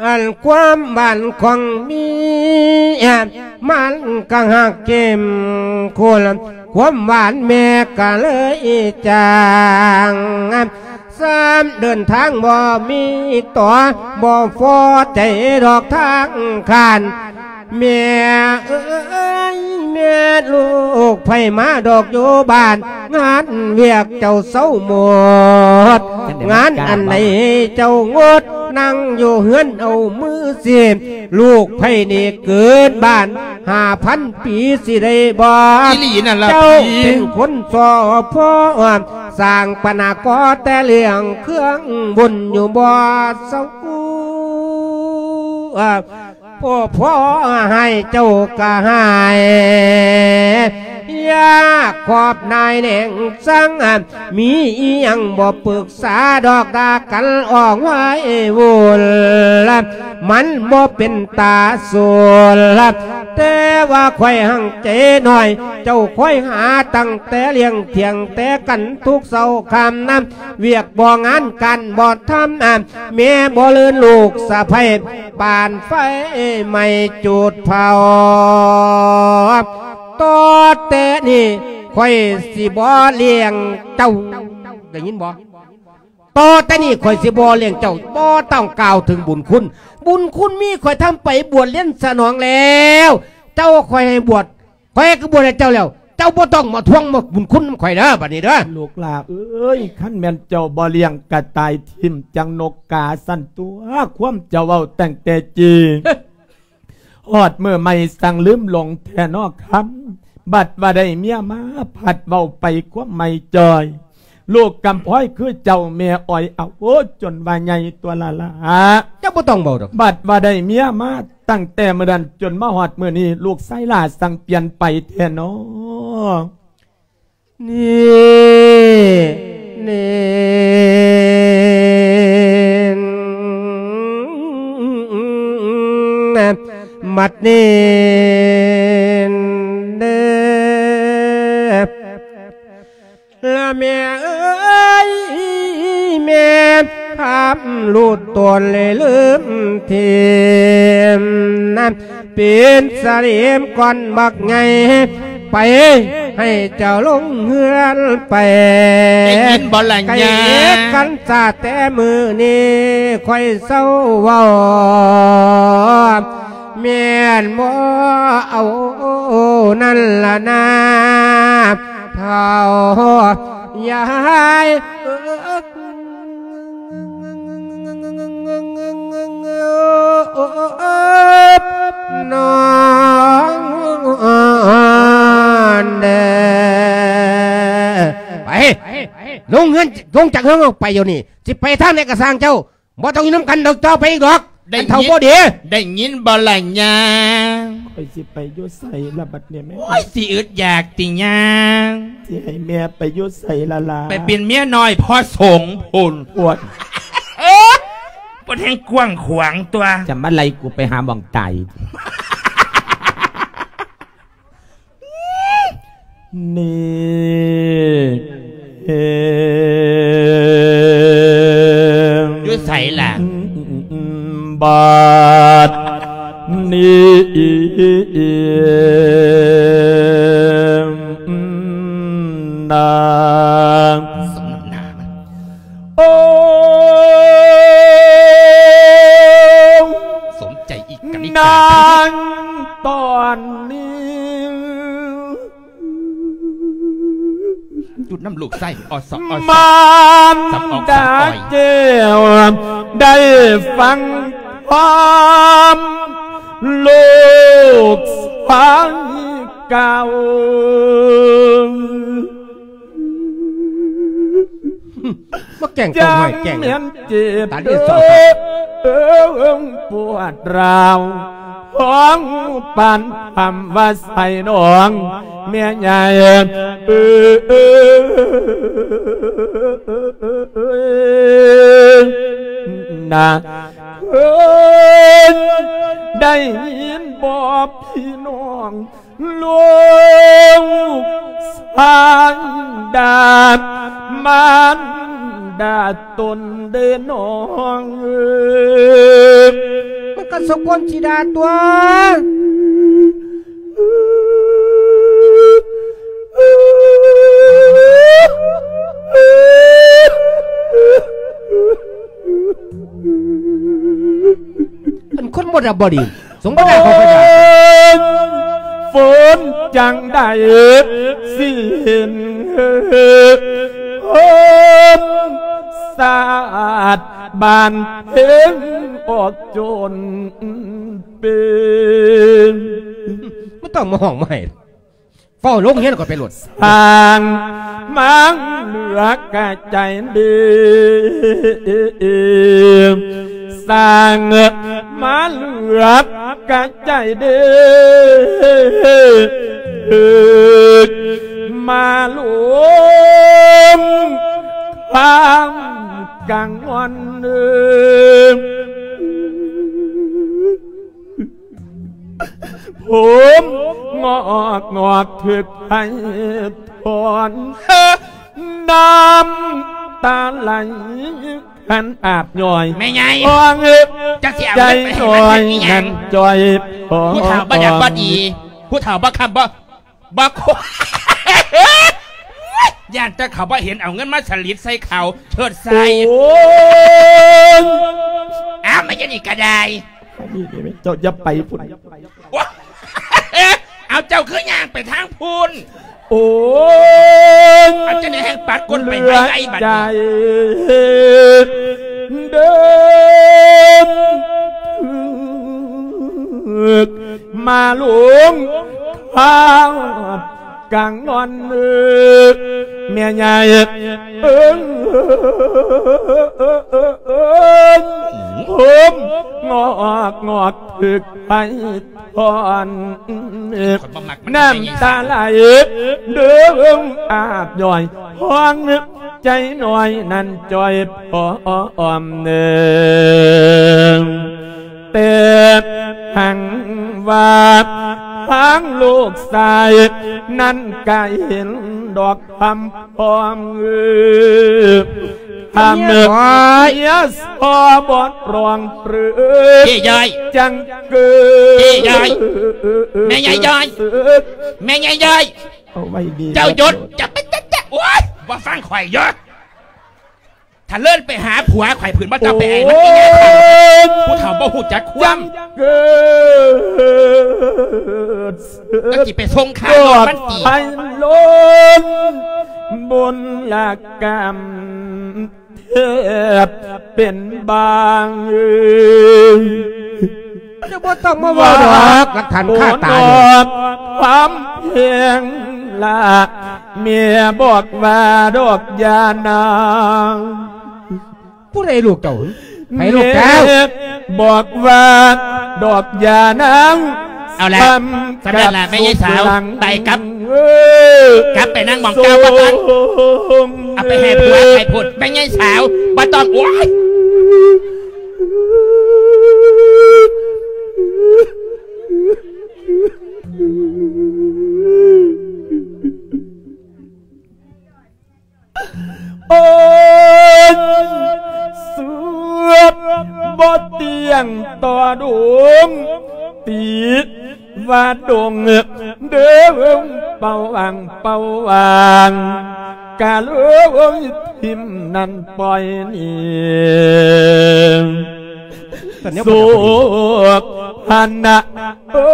ອັນຄວາມຫວານຂອງເມຍ ມັນກະຮັກເຂັ້ມຂຸ້ນ ຄວາມຫວານແມ່ກະເລີຍຈາງ ຊ້ຳເດີນທາງບໍ່ມີຕໍ່ ບໍ່ພໍໃຈດອກທາງຄານ ແມ່ເອີຍ ແມ່ລູກໃຜມາດອກຢູ່ບ້ານ ງານວຽກເຈົ້າເຊົາໝົດ ງານອັນໃດເຈົ້າງົດ ນັ່ງຢູ່ເຮືອນເອົາມືຊີບ ລູກໃຜນີ້ເກີດບ້ານຫ້າພັນປີຊິໄດ້ບໍ່? ອີ່ຫຼີນັ້ນລະ ເຈົ້າເປັນຄົນສໍ້ພໍ ສ້າງປັນຫາກໍ່ແຕ່ເລື່ອງເຄື່ອງບຸນຢູ່ບໍ່ເຊົາ ໂອ້ ພໍ່ໃຫ້ເຈົ້າກະໃຫ້ ຢາກຂອບນາຍແນງສັງ ມີອີ່ຫຍັງບໍ່ປຶກສາດອກດາກັນອອກໄວ້ວຸ້ນ ມັນບໍ່ເປັນຕາສູນ ແຕ່ວ່າຂ້ອຍຮັ່ງໃຈໜ້ອຍ ເຈົ້າຄອຍຫາຕັ້ງແຕ່ລ້ຽງຖຽງແຕ່ກັນທຸກເຊົ້າຄ່ຳນຳ ວຽກບໍ່ງານການບໍ່ທຳ ແມ່ບໍ່ເລີນລູກສະໃພ້ ປານໄຟໄໝ້ຈູດເຜົາ ຕໍ່ແຕ່ນີ້ຂ້ອຍຊິບໍ່ລ້ຽງເຈົ້າ ໄດ້ຍິນບໍ່? ຕໍ່ແຕ່ນີ້ຂ້ອຍຊິບໍ່ລ້ຽງເຈົ້າ ບໍ່ຕ້ອງກ່າວເຖິງບຸນຄຸນ ບຸນຄຸນມີ ຂ້ອຍທຳໄປບວດລຽນສະໜອງແລ້ວ ເຈົ້າຂ້ອຍໃຫ້ບວດ ຂ້ອຍກໍບວດໃຫ້ເຈົ້າແລ້ວ ເຈົ້າບໍ່ຕ້ອງມາທວງມາບຸນຄຸນນຳຂ້ອຍເດີ ບັດນີ້ເດີ. ລູກຫຼ້າເອີຍ ຄັນແມ່ນເຈົ້າບໍ່ລ້ຽງກະຕ່າຍຖິ້ມຈັ່ງນົກກາຊັ້ນຕົວະ ຄວາມເຈົ້າເວົ້າຕັ້ງແຕ່ຈີ້ ຮອດມື້ໃໝ່ສັງລືມຫຼົງແທ້ນໍຄຳ ບັດວ່າໄດ້ເມຍມາ ພັດເວົ້າໄປຄວາມໃໝ່ຈ່ອຍ ລູກກຳພ້ອຍຄືເຈົ້າແມ່ອ້ອຍເອົາ ໂອ້ ຈົນວ່າໃຫຍ່ຕົວະລະຫຼ້າ ເຈົ້າບໍ່ຕ້ອງເວົ້າດອກ ບັດວ່າໄດ້ເມຍມາ ຕັ້ງແຕ່ມື້ນັ້ນຈົນມາຮອດມື້ນີ້ ລູກຊາຍຫຼ້າສັງປ່ຽນໄປແທ້ນໍ. ນີ້ ນີ້ ບັດນີ້ເດີ ລະແມ່ເອີຍ ແມ່ພາບລູດຕົນເລີຍລືມຖິ້ມນະ ເປັນສະເຫຼມກ່ອນບັກໃຫຍ່ ໄປໃຫ້ເຈົ້າລົງເຮືອນໄປ ໄດ້ຍິນບໍ່ລະຍາ ໄກ່ກັນຊາແຕ່ມື້ນີ້ ຂ້ອຍເຊົາເວົ້າ ແມ່ນບໍ່ເອົານັ້ນລະນາ ເຖົ້າຍາຍເອີຍ ນ້ອງເດີ ໄປ ລົງເຮືອນ ລົງຈາກເຮືອນອອກໄປດຽວນີ້ ຊິໄປທາງໃດກະຊ່າງເຈົ້າ ບໍ່ຕ້ອງຢູ່ນຳກັນດອກ ຕໍ່ໄປອີກດອກ ໄດ້ຍິນ ອັນເຖົ້າບໍ່ດີ ໄດ້ຍິນບໍ່ລະຍາ ຂ້ອຍຊິໄປຢູ່ໃສລະບັດນີ້ແມ່ ໂອ້ຍ ຊິອຶດຢາກຕິຍາ ຊິໃຫ້ແມ່ໄປຢູ່ໃສລະລາ ໄປເປັນເມຍນ້ອຍພໍ່ສົງພຸ້ນ ໂອ້ຍ ເອີ ເພິ່ນແຮ່ງກວ້າງຂວາງຕົວະ ຈະມາໄລ່ກູໄປຫາໝ່ອງຕາຍ ນີ້ ຢູ່ໃສລະ ບັດນີ້ນາງ ສົມນ້ຳໜ້າມັນ ໂອ້ ສົມໃຈອີກກະນິກາ ນາງຕອນນີ້ ຈຸດນຳລູກໄສ້ ອອດສອດ ອອດສອດ ມານດາແກ້ວ ໄດ້ຟັງຄວາມລູກຊາຍກ່າວ ມາແກ້ງຕົວໃຫ້ແກ້ງ ຕາດີສອດ ເອີ ປວດຮ້າວ ຂອງປານຄຳວ່າໃສ່ນ້ອງແມ່ໃຫຍ່ ເອີ ນາ ເອີ ໄດ້ຍິນບໍ່ພີ່ນ້ອງ ລູກຊາຍດາ ມານດາຕົນເດີນ້ອງເອີຍ ມັນກໍສົມຄວນຊິດາຕົວະ ອັນຄົນບໍ່ດັບບໍ່ດີ ສົມບໍ່ໜ້າເຂົາໄປດ່າ ຝົນຈັ່ງໄດ້ຊິເຫັນ ເອີ ຄົນຊາດບ້ານເພິງອອກຈົນເປັນ ບໍ່ຕ້ອງມາຮ້ອງມາໄຫ້ ເຝົ້າລົງຮຽນຂ້ອຍໄປໂລດ ສ້າງມາເຫຼືອກະໃຈດີ ສ້າງມາເຫຼືອກະໃຈດີ ມາລົມຄາງກັງວອນ ຜົມງອກງອກຖືກໄຟຖອນ ນ້ຳຕາໄຫຼຄັນອາບຍ້ອຍ ແມ່ໃຫຍ່ ຂອງເອີຍ ຈັກຊິເອົາເງິນໄປໃຫ້ມັນເຮັດອີ່ຫຍັງ ໃຈນ້ອຍນັ້ນຈ່ອຍ ຜູ້ເຖົ້າບໍ່ດັບບໍ່ດີ ຜູ້ເຖົ້າບໍ່ຄ້ຳບໍ່ ບັກ ຢ້ານແຕ່ເຂົາບໍ່ເຫັນ ເອົາເງິນມາສະລິດໃສ່ເຂົາ ເທີດໃສ່ ໂອ້ຍ ອ້າວ ມາຢູ່ນີ້ກະໄດ້ ເຈົ້າຢ່າໄປພຸ້ນ ໂອ້ຍ ເອົາ ເຈົ້າຄືຍ່າງໄປທາງພຸ້ນ ໂອ້ຍ ເອົາ ຈັ່ງໃດແຮ່ງປັດກົ້ນໄປໄວໆ ບັດນີ້ ເດີນ ມາລົງຄາດກາງນອນ ແມ່ໃຫຍ່ເອີຍ ເອີຍ ໂຮມງອກງອກຖືກໄຟຖອນ ຂ້ອຍບໍ່ມັກມັນ ນ້ຳຕາໄຫຼເດີງອາບຍ້ອຍ ຫ້ອງໃຈນ້ອຍນັ້ນຈ່ອຍພ້ອມເນີງ ແຕ່ຫັງວ່າທາງລູກຊາຍນັ້ນກະເຫັນດອກຄຳພ້ອມ ເອີ ຄຳເມຍຊໍບໍ່ຮ້ອງເປີ ເຈ້ຍາຍ ຈັ່ງເກີດ ເຈ້ຍາຍ ແມ່ຍາຍຢາຍ ແມ່ຍາຍຢາຍ ເອົາໄວ້ດີ ເຈົ້າຢຸດ ເຈົ້າ ເຈົ້າ ເຈົ້າ ໂອ້ຍ ບໍ່ຟັງຂ້ອຍເດີ. ຖ້າເລີນໄປຫາຜົວຂ້ອຍ ຜືນບໍ່ເຈົ້າໄປໄອ້ມັນ ອີ່ຍາເຖົ້າ ໂອ້ຍ ຜູ້ເຖົ້າບໍ່ຮູ້ຈັກຄວາມ ເກີດ ເຈົ້າຊິໄປສົ່ງຄ່າລົດມັນຕິ ໄພລົ້ນບຸນລະກຳ ແທບເປັນບາງ ເຈົ້າບໍ່ຕ້ອງມາເວົ້າດອກ ຫຼັກຖານຄາຕາຢູ່ ຄວາມແພງລະ ແມ່ບອກວ່າດອກຢ່ານາງ ຜູ້ໃດລູກເຈົ້າ? ໃຜລູກເຈົ້າ? ແມ່ບອກວ່າດອກຢ່ານາງ ເອົາລະ ສ່ຳນັ້ນລະແມ່ຍາຍສາວ ໄປກັບ ເອີ ກັບໄປນັ່ງໝ່ອງເກົ່າ ບໍ່ຕ້ອງ ເອົາໄປໃຫ້ຜົວໃຫ້ຜົວ ແມ່ຍາຍສາວ ບໍ່ຕ້ອງ ໂອ້ຍ ໂອ້ຍ ສວດບໍ່ຕຽງຕໍ່ດົງ ຕິດວ່າດົງເດີງ ເປົ່າຫວ່າງເປົ່າຫວ່າງ ກະເລີຍຖິ້ມນັ້ນປ່ອຍນີ້ ສຸກຫັ້ນນະ ເອີ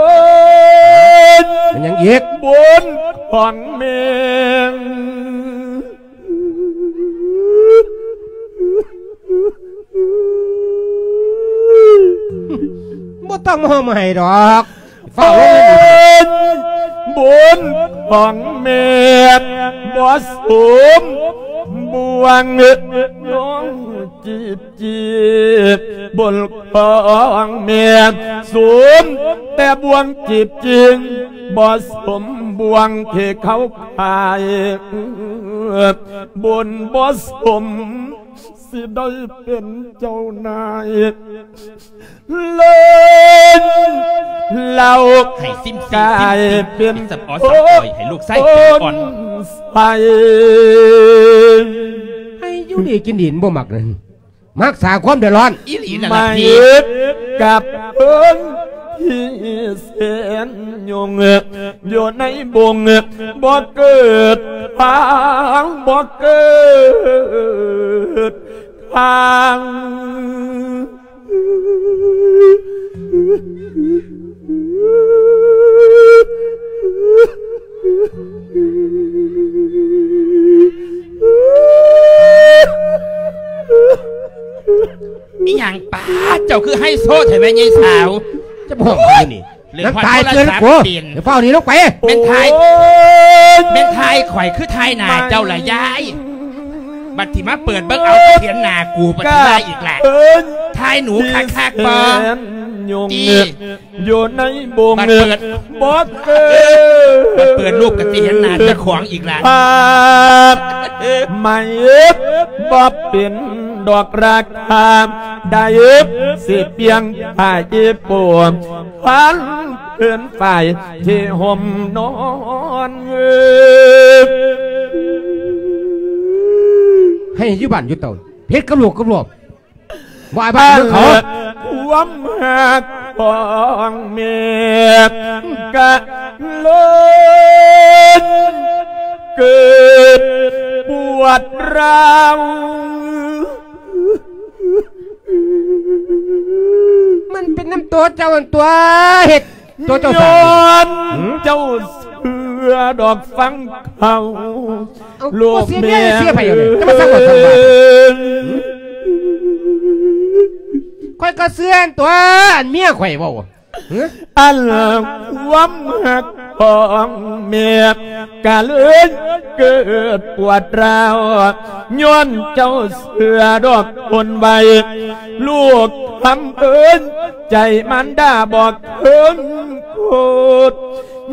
ຍ ແມ່ນຫຍັງອີກ? ບຸນຂອງແມ່ ບໍ່ຕ້ອງມາຮ້ອງມາໄຫ້ດອກ ຟ້າວລົງເງິນ ເອີຍ ບຸນຂອງແມ່ບໍ່ສົມບວງ ນ້ອງຈີບ ຈີບ ບົນຂອງແມ່ສົມແຕ່ບວງຈີບຈິງ ບໍ່ສົມບວງທີ່ເຂົາຂາຍ ບົນບໍ່ສົມຊິໄດ້ເປັນເຈົ້ານາຍ ເລີນເລົ່າ ໃຫ້ຊິມ ກາຍເປັນ ຊິມ ຊິມ ຊິມ ສະປອຍ ສະປອຍ ໃຫ້ລູກຊາຍເປັນອ່ອນ ໃສ່ ໃຫ້ຢູ່ດີກິນດີ ບໍ່ມັກນັ້ນ ມັກສ້າງຄວາມເດືອດຮ້ອນ ອີ່ຫຼີນັ້ນລະ ມາເຮັດກັບເພິ່ນທີ່ແສນຍົງ ຢູ່ໃນບົງບໍ່ເກີດທາງ ບໍ່ເກີດທາງ ອີ່ຫຍັງປາ ເຈົ້າຄືໄຮໂຊແທ້ແມ່ຍາຍສາວ ຈະບອກຢູ່ນີ້ ເລື່ອງ ນາງຕາຍເກີນ ໂອ້ ເປັນ ດຽວຟ້າວໜີລົງໄປ ແມ່ນຖ່າຍ ໂອ້ຍ ແມ່ນຖ່າຍຂ້ອຍຄືຖ່າຍໜ້າເຈົ້າລະຍາຍ ບັດທີ່ມາເປີດເບິ່ງເອົາ ເຫັນໜ້າກູ ບັດທີ່ວ່າອີກລະ ເອີຍ ຖ່າຍໜູຄັກໆບໍ່ ທີ່ ຢູ່ໃນບົງ ບັດເປີດ ບໍ່ເກີດ ບັດເປີດຮູບກໍຊິເຫັນໜ້າເຈົ້າຂອງອີກລະ ພາບ ໄມ່ເຮັດບໍ່ເປັນດອກລາຄາ ໄດ້ເຮັດຊິປ່ຽງຜ້າອີ່ປົວ ພັນເພິ່ນຝ້າຍທີ່ຫົ່ມນອນ ໃຫ້ຢູ່ບ້ານຢູ່ເຕົາ ເຮັດກັບລູກກັບຫຼວງ ບໍ່ອາຍບ້ານເມືອງເຂົາ ຄວາມຮັກຂອງແມ່ກະເລີນເກີດປວດຮ້າວ ມັນເປັນນຳຕົວເຈົ້າຫັ້ນຕົວະ ເຮັດຕົວເຈົ້າສ້າງ ຍ້ອນເຈົ້າເຊື່ອດອກຟັງເຂົາ ເອົາ ລູກເມຍ ເສຍໃຜເອົານີ້ ຈະມາສັ່ງວ່າສັ່ງວ່າ ຂ້ອຍກໍເຊື່ອອັນຕົວະ ອັນເມຍຂ້ອຍເວົ້າ ຮະ ອັນຄວາມຮັກ ຂອງແມ່ກະເລີຍເກີດປວດຮ້າວ ຍ້ອນເຈົ້າເຊື່ອດອກຄົນໄວ ລູກຄຳເອີ້ນໃຈມານດາບໍ່ເຄີຍໂກດ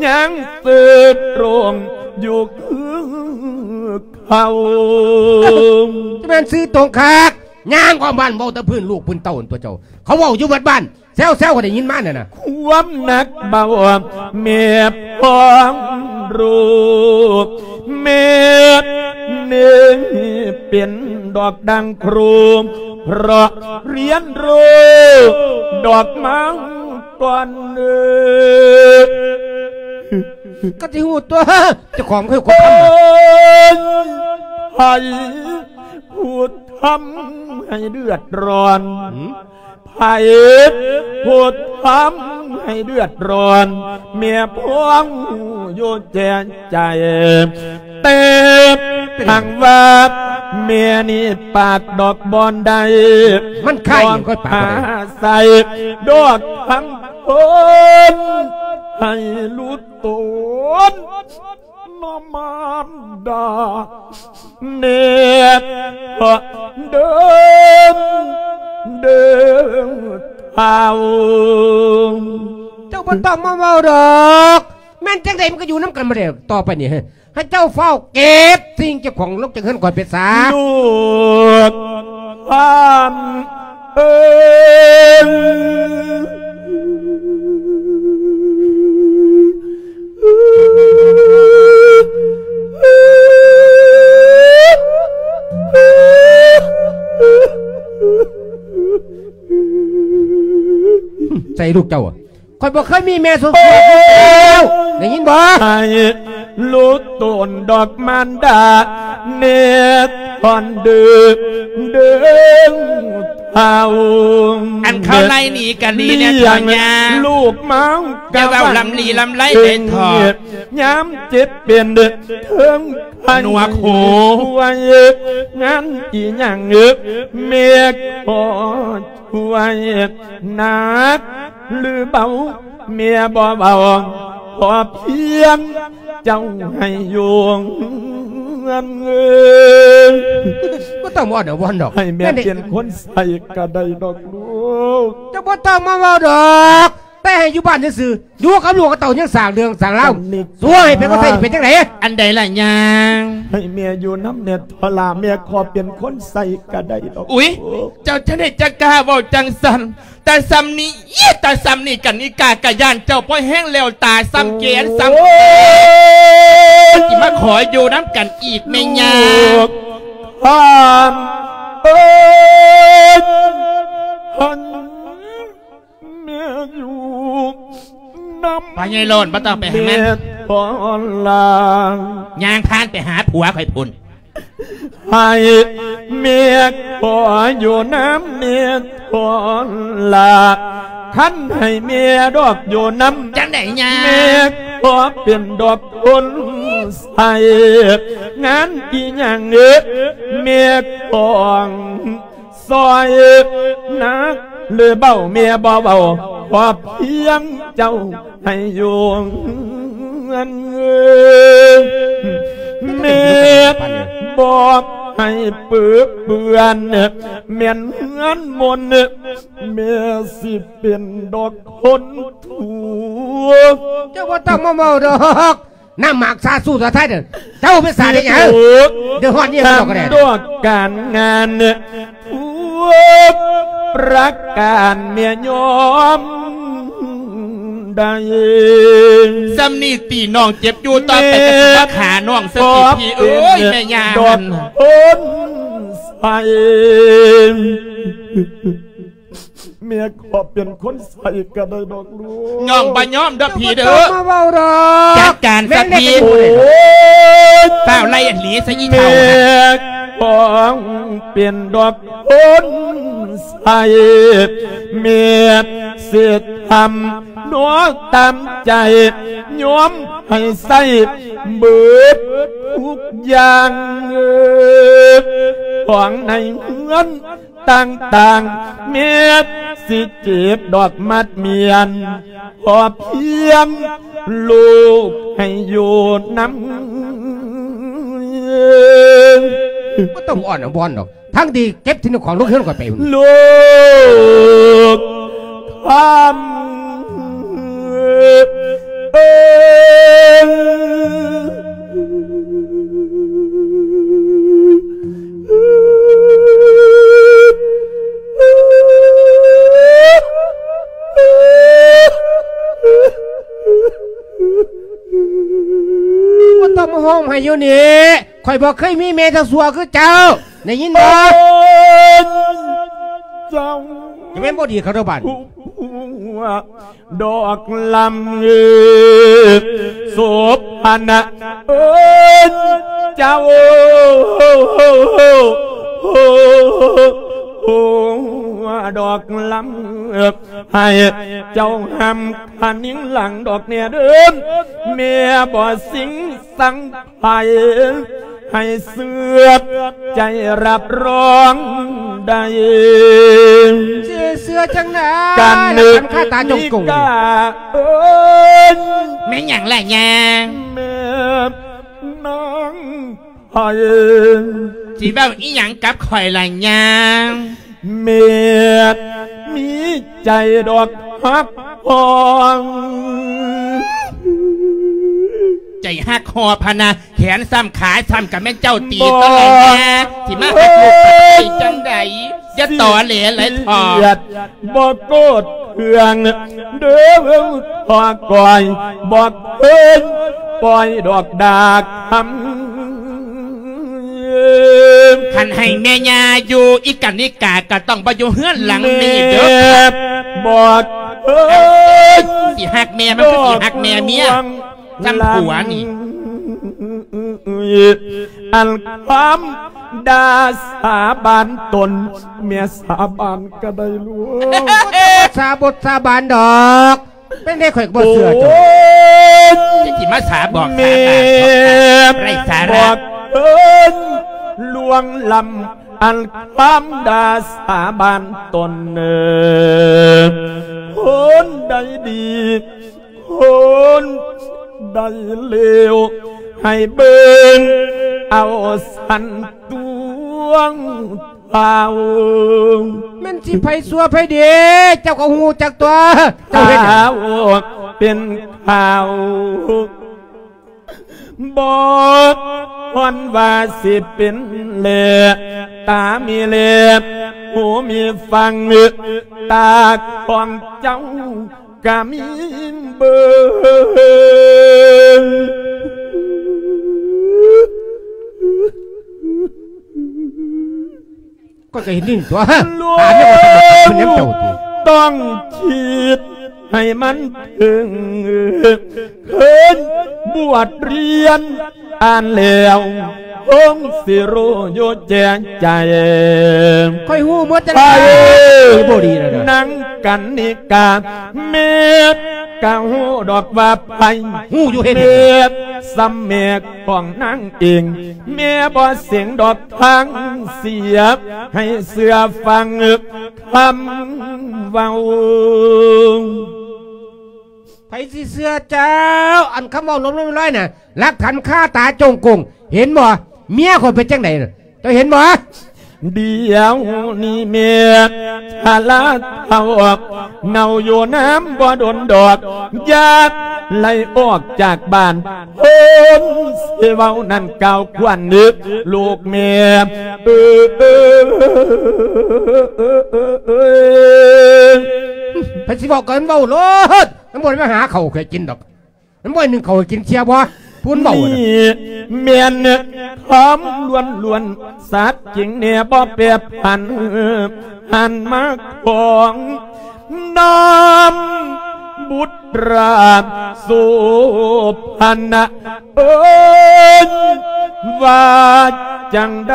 ຍັງຊື່ຕຣົງຢູ່ຄືເກົ່າ. ຈະແມ່ນຊື່ຕົງຄັກ ຍ່າງອ້ອມບ້ານເວົ້າແຕ່ພື້ນລູກພື້ນເຕົ້ານັ້ນຕົວະເຈົ້າ ເຂົາເວົ້າຢູ່ເບິດບ້ານ ແຊວໆ ກໍໄດ້ຍິນມານັ້ນນະ. ຄວາມໜັກເບົາແມ່ພ້ອງຮູ້ ແມ່ນີ້ເປັນດອກດັ່ງຄູ ເພາະຮຽນຮູ້ດອກມັງກ່ອນເອີ. ກໍຊິຮູ້ຕົວະ ເຈົ້າຂອງຄືຄົນທຳ ເອີຍ ໃຜຜູ້ທຳໃຫ້ເດືອດຮ້ອນ? ຫືມ? ໃຜຜູ້ທຳໃຫ້ເດືອດຮ້ອນ? ແມ່ພ້ອງຮູ້ຢູ່ແຈ້ໃຈ ແຕ່ຫາກວ່າແມ່ນີ້ປາກດອກບໍ່ໄດ້ ມັນຄ້າຍຫຍັງຂ້ອຍປາກບໍ່ໄດ້ ອາໄສດອກທາງເພິ່ນໃຫ້ຫຼຸດ ຕົນນະມານດາແນ່ເດີ ເດີເຖົ້າ. ເຈົ້າບໍ່ຕ້ອງມາເວົ້າດອກ ແມ່ນຈັ່ງໃດມັນກໍຢູ່ນຳກັນບໍ່ໄດ້ ຕໍ່ໄປນີ້ ໃຫ້ເຈົ້າຟ້າວເກັບສິ່ງເຈົ້າຂອງລົງຈາກເຮືອນຂ້ອຍໄປຊະ ລູກ ທ່ານເອີຍ. ໃສ່ລູກເຈົ້າ ຂ້ອຍບໍ່ເຄີຍມີແມ່ສົມຄວນ ໄດ້ຍິນບໍ່? ໃຫ້ຫຼຸດຕົນດອກມານດາ ເນດອນເດີ ເດີເຖົ້າ. ອັນເຂົາໄລ່ໜີກັນນີ້ແນ່ ທອຍາ ລູກມາ ຢ່າເວົ້າລຳລີລຳໄລເດ້ ທອຍາ ຍາມເຈັບເປັນເທິງ ໜວກຫູ ງານອີຫຍັງເອີ ແມ່ຂໍຊ່ວຍ ໜັກຫຼືເບົາ ແມ່ບໍ່ເວົ້າ ຂໍພຽງເຈົ້າໃຫ້ຢູ່ເຮືອນເອີຍ. ບໍ່ຕ້ອງອ້ອນວອນດອກ ໃຫ້ແມ່ເປັນຄົນໃສ່ກໍໄດ້ດອກລູກ. ເຈົ້າບໍ່ຕ້ອງມາເວົ້າດອກ ແຕ່ໃຫ້ຢູ່ບ້ານຊື່ໆ ຢູ່ກັບລູກກັບເຕົ້າຍັງສ້າງເລື່ອງສ້າງລາວ ອັນນີ້ ຊ່ວຍເປັນບໍ່ໃສ່ເປັນຈັ່ງໃດ? ອັນໃດລະຍາ? ໃຫ້ແມ່ຢູ່ນຳແດ່ທໍລະ ແມ່ຂໍເປັນຄົນໃສ່ກໍໄດ້ດອກ. ອຸຍ ເຈົ້າຈັ່ງໃດຈັ່ງກ້າເວົ້າຈັ່ງຊັ້ນ? ຕາສ່ຳນີ້ ຕາສ່ຳນີ້ ກະນິກາກະຢ້ານເຈົ້າພໍແຮງແລ້ວ ຕາສ່ຳແກນສ່ຳ ໂອ້ຍ ຊິມາຂໍຢູ່ນຳກັນອີກແມ່ຍາ? ລູກທ່ານເອີຍ ທ່ານ ແມ່ຢູ່ນຳ ພໍ່ໃຫຍ່ໂລດ ບໍ່ຕ້ອງໄປຫາມັນ ແມ່ພໍລາ ຍ່າງຜ່ານໄປຫາຜົວຂ້ອຍພຸ້ນ. ໃຫ້ແມ່ຂໍຢູ່ນຳແນ່ພໍລາ ຄັນໃຫ້ແມ່ດອກຢູ່ນຳ ຈັ່ງໃດຍາ? ແມ່ຂໍເປັນດອກຄົນໃສ່ ງານອີຫຍັງເອີ ແມ່ຂອງ ຊ່ອຍໜັກຫຼືເບົາ ແມ່ບໍ່ເວົ້າ ຂໍພຽງເຈົ້າໃຫ້ຢູ່ເຮືອນ. ແມ່ບອກໃຫ້ເປິເປື້ອນ ແມ່ນເຮືອນມົນ ແມ່ຊິເປັນດອກຄົນທຸກ. ເຈົ້າບໍ່ຕ້ອງມາເວົ້າດອກ. ນ້ຳໝາກຊາຊູຊາໄທເດີ ເຈົ້າເປັນສາເຮັດຫຍັງ? ເດືອດຮ້ອນອີ່ຫຍັງດອກກະແດ. ດອກການງານທຸກປະການແມ່ຍອມໄດ້. ສ່ຳນີ້ຕີນ້ອງເຈັບຢູ່ ຕໍ່ໄປກໍຊິມາຂ້ານ້ອງຊະຕິພີ່ເອີຍ ແມ່ຍ່າ ດອກຄົນໃສ່. ແມ່ຂໍເປັນຄົນໃສ່ກໍໄດ້ດອກລູກ. ນ້ອງບໍ່ຍອມດອກພີ່ເດີ. ເຈົ້າບໍ່ຕ້ອງມາເວົ້າດອກ. ຈັດການຊະພີ່. ແມ່ນແຫຼະ. ໂອ້ຍ ຟ້າວໄລ່ອັນນີ້ຊະອີ່ເຖົ້າ. ແມ່ຂໍເປັນດອກຄົນໃສ່ ແມ່ຊິທຳນອກຕາມໃຈ ຍອມໃຫ້ໃຊ້ເບິດທຸກຢ່າງ ຂອງໃນເຮືອນ ຕ່າງໆ ແມ່ຊິເຈັບດອກມັດມ້ຽນ ຂໍພຽງລູກໃຫ້ຢູ່ນຳ. ບໍ່ຕ້ອງອ້ອນອາວອນດອກ ທັງທີ່ເກັບສິ່ງຂອງລົງເຮືອນຂ້ອຍໄປພຸ້ນ ລູກຄຳເອີຍ. ບໍ່ຕ້ອງມາຮ້ອງໄຫ້ຢູ່ນີ້ ຂ້ອຍບໍ່ເຄີຍມີແມ່ເຈົ້າຊົ່ວຄືເຈົ້າ ໄດ້ຍິນບໍ່? ເອີຍ ເຈົ້າ ຈະແມ່ນບໍ່ດີເຂົາເດີບາດນີ້. ດອກລຳເອີຍ ໂສພະນະເອີຍ ເຈົ້າ ດອກລຳເອີຍ ໃຫ້ເຈົ້າຫ້າມຄະນິງຫຼັງດອກແນ່ເດີ ແມ່ບໍ່ສິງສັງ ໃຜໃຫ້ເຊື່ອໃຈຮັບຮອງໄດ້ ຊິເຊື່ອຈັ່ງໃດ ການນຶກຄາຕາຈົ່ງກົງ ເອີ້ນ ແມ່ນຫຍັງລະຍາ ແມ່ນນາງໃຜ ຊິເວົ້າອີ່ຫຍັງກັບຂ້ອຍລະຍາ ແມ່ນມີໃຈດອກຮັກຮອງ ໃຈຮັກຮອງພະນະ ແຂນຊ້ຳຂາຊ້ຳ ກະແມ່ນເຈົ້າຕີຕະຫຼອດແນ່ ຊິມາຮັກລູກໄປຈັ່ງໃດ ຢ່າຕໍແຫຼຫຼາຍເຖາະ ບໍ່ໂກດເຄືອງເດີ ພໍ່ກ້ອຍ ບໍ່ເຄີຍປ່ອຍດອກດາຄຳ. ຄັນໃຫ້ແມ່ຍ່າຢູ່ ອີການິກາກະຕ້ອງບໍ່ຢູ່ເຮືອນຫຼັງນີ້ເດີ ບອກເອີຍ ຊິຮັກແມ່ ມັນຄືຊິຮັກແມ່ເມຍ ຈຳຜົວນີ້ ອັນຄຳດາສາບານຕົນ ແມ່ສາບານກະໄດ້ລູກ ສາບົດສາບານດອກ ເປັນໄດ້ ຂ້ອຍກໍບໍ່ເຊື່ອເຈົ້າ ໂອ້ຍ ຈະຊິມາສາບອກສາບານ ແມ່ ໄຮ້ສາລະ ບອກເອີຍ ລວງລຳ ອັນຄຳດາສາບານຕົນເອີຍ ຄົນໃດດີ ຄົນໃດເລວ ໃຫ້ເບິ່ງເອົາສັນຕົວງ ພາວ ແມ່ນຊິໃຜຊົ່ວໃຜດີ ເຈົ້າກໍຮູ້ຈັກຕົວະ ເຈົ້າເຮັດຫຍັງ ພາວເປັນຂ່າວ ບໍ່ຮອນວ່າຊິເປັນແລ ຕາມີແລ ຫູມີຟັງ ຕາຂອງເຈົ້າ ກະມີເບິ່ງ ຂ້ອຍກໍເຫັນນີ້ຕົວະ ຕາແມ່ນວ່າເປັນແນວເຈົ້າຕິ ຕ້ອງຄິດໃຫ້ມັນເຖິງ ເຄີຍບວດຮຽນ ອ່ານແລ້ວຄົງຊິຮູ້ຢູ່ແຈ້ໃຈ ຂ້ອຍຮູ້ໝົດແລ້ວ ໄປ ບໍ່ດີແລ້ວນະ ນາງກັນນິກາ ແມ່ກະຮູ້ດອກວ່າໃຜ ຮູ້ຢູ່ເຮັດ ແມ່ສ່ຳແມ່ຂອງນາງເອງ ແມ່ບໍ່ເສັງດອກທາງເສຍ ໃຫ້ເຊື່ອຟັງຄຳເວົ້າ. ໃຜຊິເຊື່ອເຈົ້າ ອັນຄຳເວົ້າລົມໆລອຍໆນະ ຫຼັກຖານຄາຕາຈົ່ງກົງ ເຫັນບໍ່ ເມຍຂ້ອຍເປັນຈັ່ງໃດນະ ເຈົ້າເຫັນບໍ່? ດຽວນີ້ແມ່ຊະລາເຖົ້າ ເນົ່າຢູ່ນຳບໍ່ດົນດອກ ຢາກໄລ່ອອກຈາກບ້ານ ຄົນຊິເວົ້ານັ້ນກ່າວຂວັນນຶກ ລູກແມ່ເອີຍ ເພິ່ນຊິເວົ້າກໍເວົ້າໂລດ ມັນບໍ່ໄດ້ມາຫາເຂົ້າໃຫ້ກິນດອກ ມັນບໍ່ໜຶ້ງເຂົ້າໃຫ້ກິນເຊື່ອບໍ່ ຜູ້ເວົ້ານະ ນີ້ແມ່ນຄຳລ້ວນໆ ສັດຈິງແນ່ບໍ່ແປຜັນ ຫັນມາຂອງນຳບຸດຕາໂສພະນະເອີຍ ວ່າຈັ່ງໃດ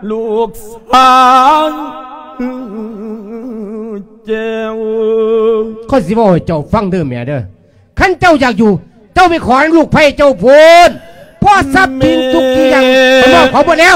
ລູກສາວແກ້ວ ຂ້ອຍຊິເວົ້າໃຫ້ເຈົ້າຟັງເດີແມ່ເດີ ຄັນເຈົ້າຢາກຢູ່ ເຈົ້າໄປຂໍນຳລູກໃພ້ເຈົ້າພຸ້ນ ເພາະຊັບສິນທຸກສິ່ງຢ່າງ ຂ້ອຍມອບເຂົາໝົດແລ້ວ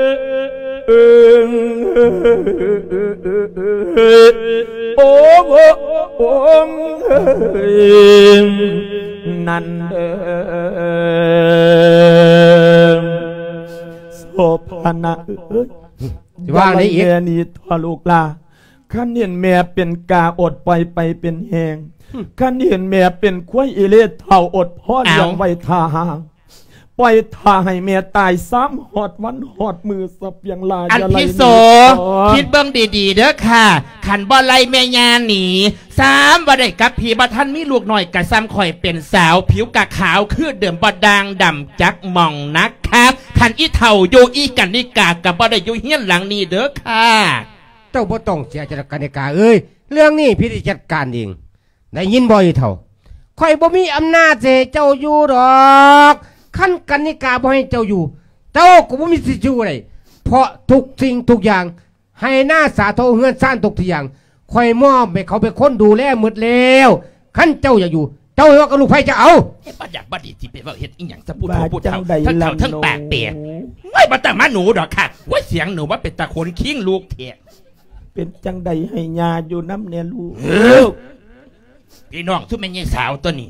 ໂອ້ ໂອ້ ນັ້ນເດີ ໂສພານະເອີຍ ຊິວ່າໄດ້ອີກ ຢ່າໄລ່ແມ່ໜີເຖາະລູກຫຼ້າ. ຄັນເຫັນແມ່ເປັນກາ ອົດປ່ອຍໄປເປັນແຮງ. ຄັນເຫັນແມ່ເປັນຄວາຍອີ່ເລ່ເຖົ້າ ອົດພໍລ້ຽງໄວ້ຖ້າຫາ. ປ່ອຍຖ້າໃຫ້ແມ່ຕາຍຊ້ຳ ຮອດວັນຮອດມື້ສະປຽງຫຼ້າ. ອັນພິໂສ ຢ່າໄລ່ແມ່ເຖາະ ຄິດເບິ່ງດີໆເດີຄ່ະ. ຄັນບໍ່ໄລ່ແມ່ຍ່າໜີ ຊ້ຳວ່າໄດ້ກັບພີ ບໍ່ທັນມີລູກນ້ອຍກະຊ້ຳຂ້ອຍເປັນສາວ ຜິວກະຂາວຄືເດີມ ບໍ່ດ່າງດຳຈັກໝ່ອງນະຄະ. ຄັນອີ່ເຖົ້າຢູ່ ອີ່ກັນນິກາກະບໍ່ໄດ້ຢູ່ເຮືອນຫຼັງນີ້ເດີຄ່ະ. ເຈົ້າບໍ່ຕ້ອງເສຍໃຈດອກກັນນິກາເອີຍ ເລື່ອງນີ້ພີ່ຊິຈັດການເອງ ໄດ້ຍິນບໍ່ອີ່ເຖົ້າ? ຂ້ອຍບໍ່ມີອຳນາດຊິໃຫ້ເຈົ້າຢູ່ດອກ. ຄັນກັນນິກາບໍ່ໃຫ້ເຈົ້າຢູ່ ເຈົ້າກໍບໍ່ມີສິດຢູ່ໄດ້ ເພາະທຸກສິ່ງທຸກຢ່າງ ໄຮ່ນາສາໂທເຮືອນຊານທຸກທີ່ຢ່າງ ຂ້ອຍມອບໃຫ້ເຂົາເປັນຄົນດູແລໝົດແລ້ວ. ຄັນເຈົ້າຢາກຢູ່ ເຈົ້າເຮັດກັບລູກໃຜຈະເອົາ. ເຮັດບໍ່ຢາກບໍ່ດີຊິໄປເວົ້າເຮັດອີ່ຫຍັງຊະ ຜູ້ເຖົ້າຜູ້ເຖົ້າ ເຖົ້າເຖົ້າເຖິງປາກແປກ. ໂອ້ຍ ບໍ່ຕ້ອງມາໜູດອກຄ່ະ. ໂອ້ຍ ສຽງໜູວ່າເປັນຕາຂົນຄີງລູກແທ້. ເປັນຈັ່ງໃດໃຫ້ຍ່າຢູ່ນຳແດ່ລູກ. ພີ່ນ້ອງຊຸມແມ່ໃຫຍ່ສາວຕົວນີ້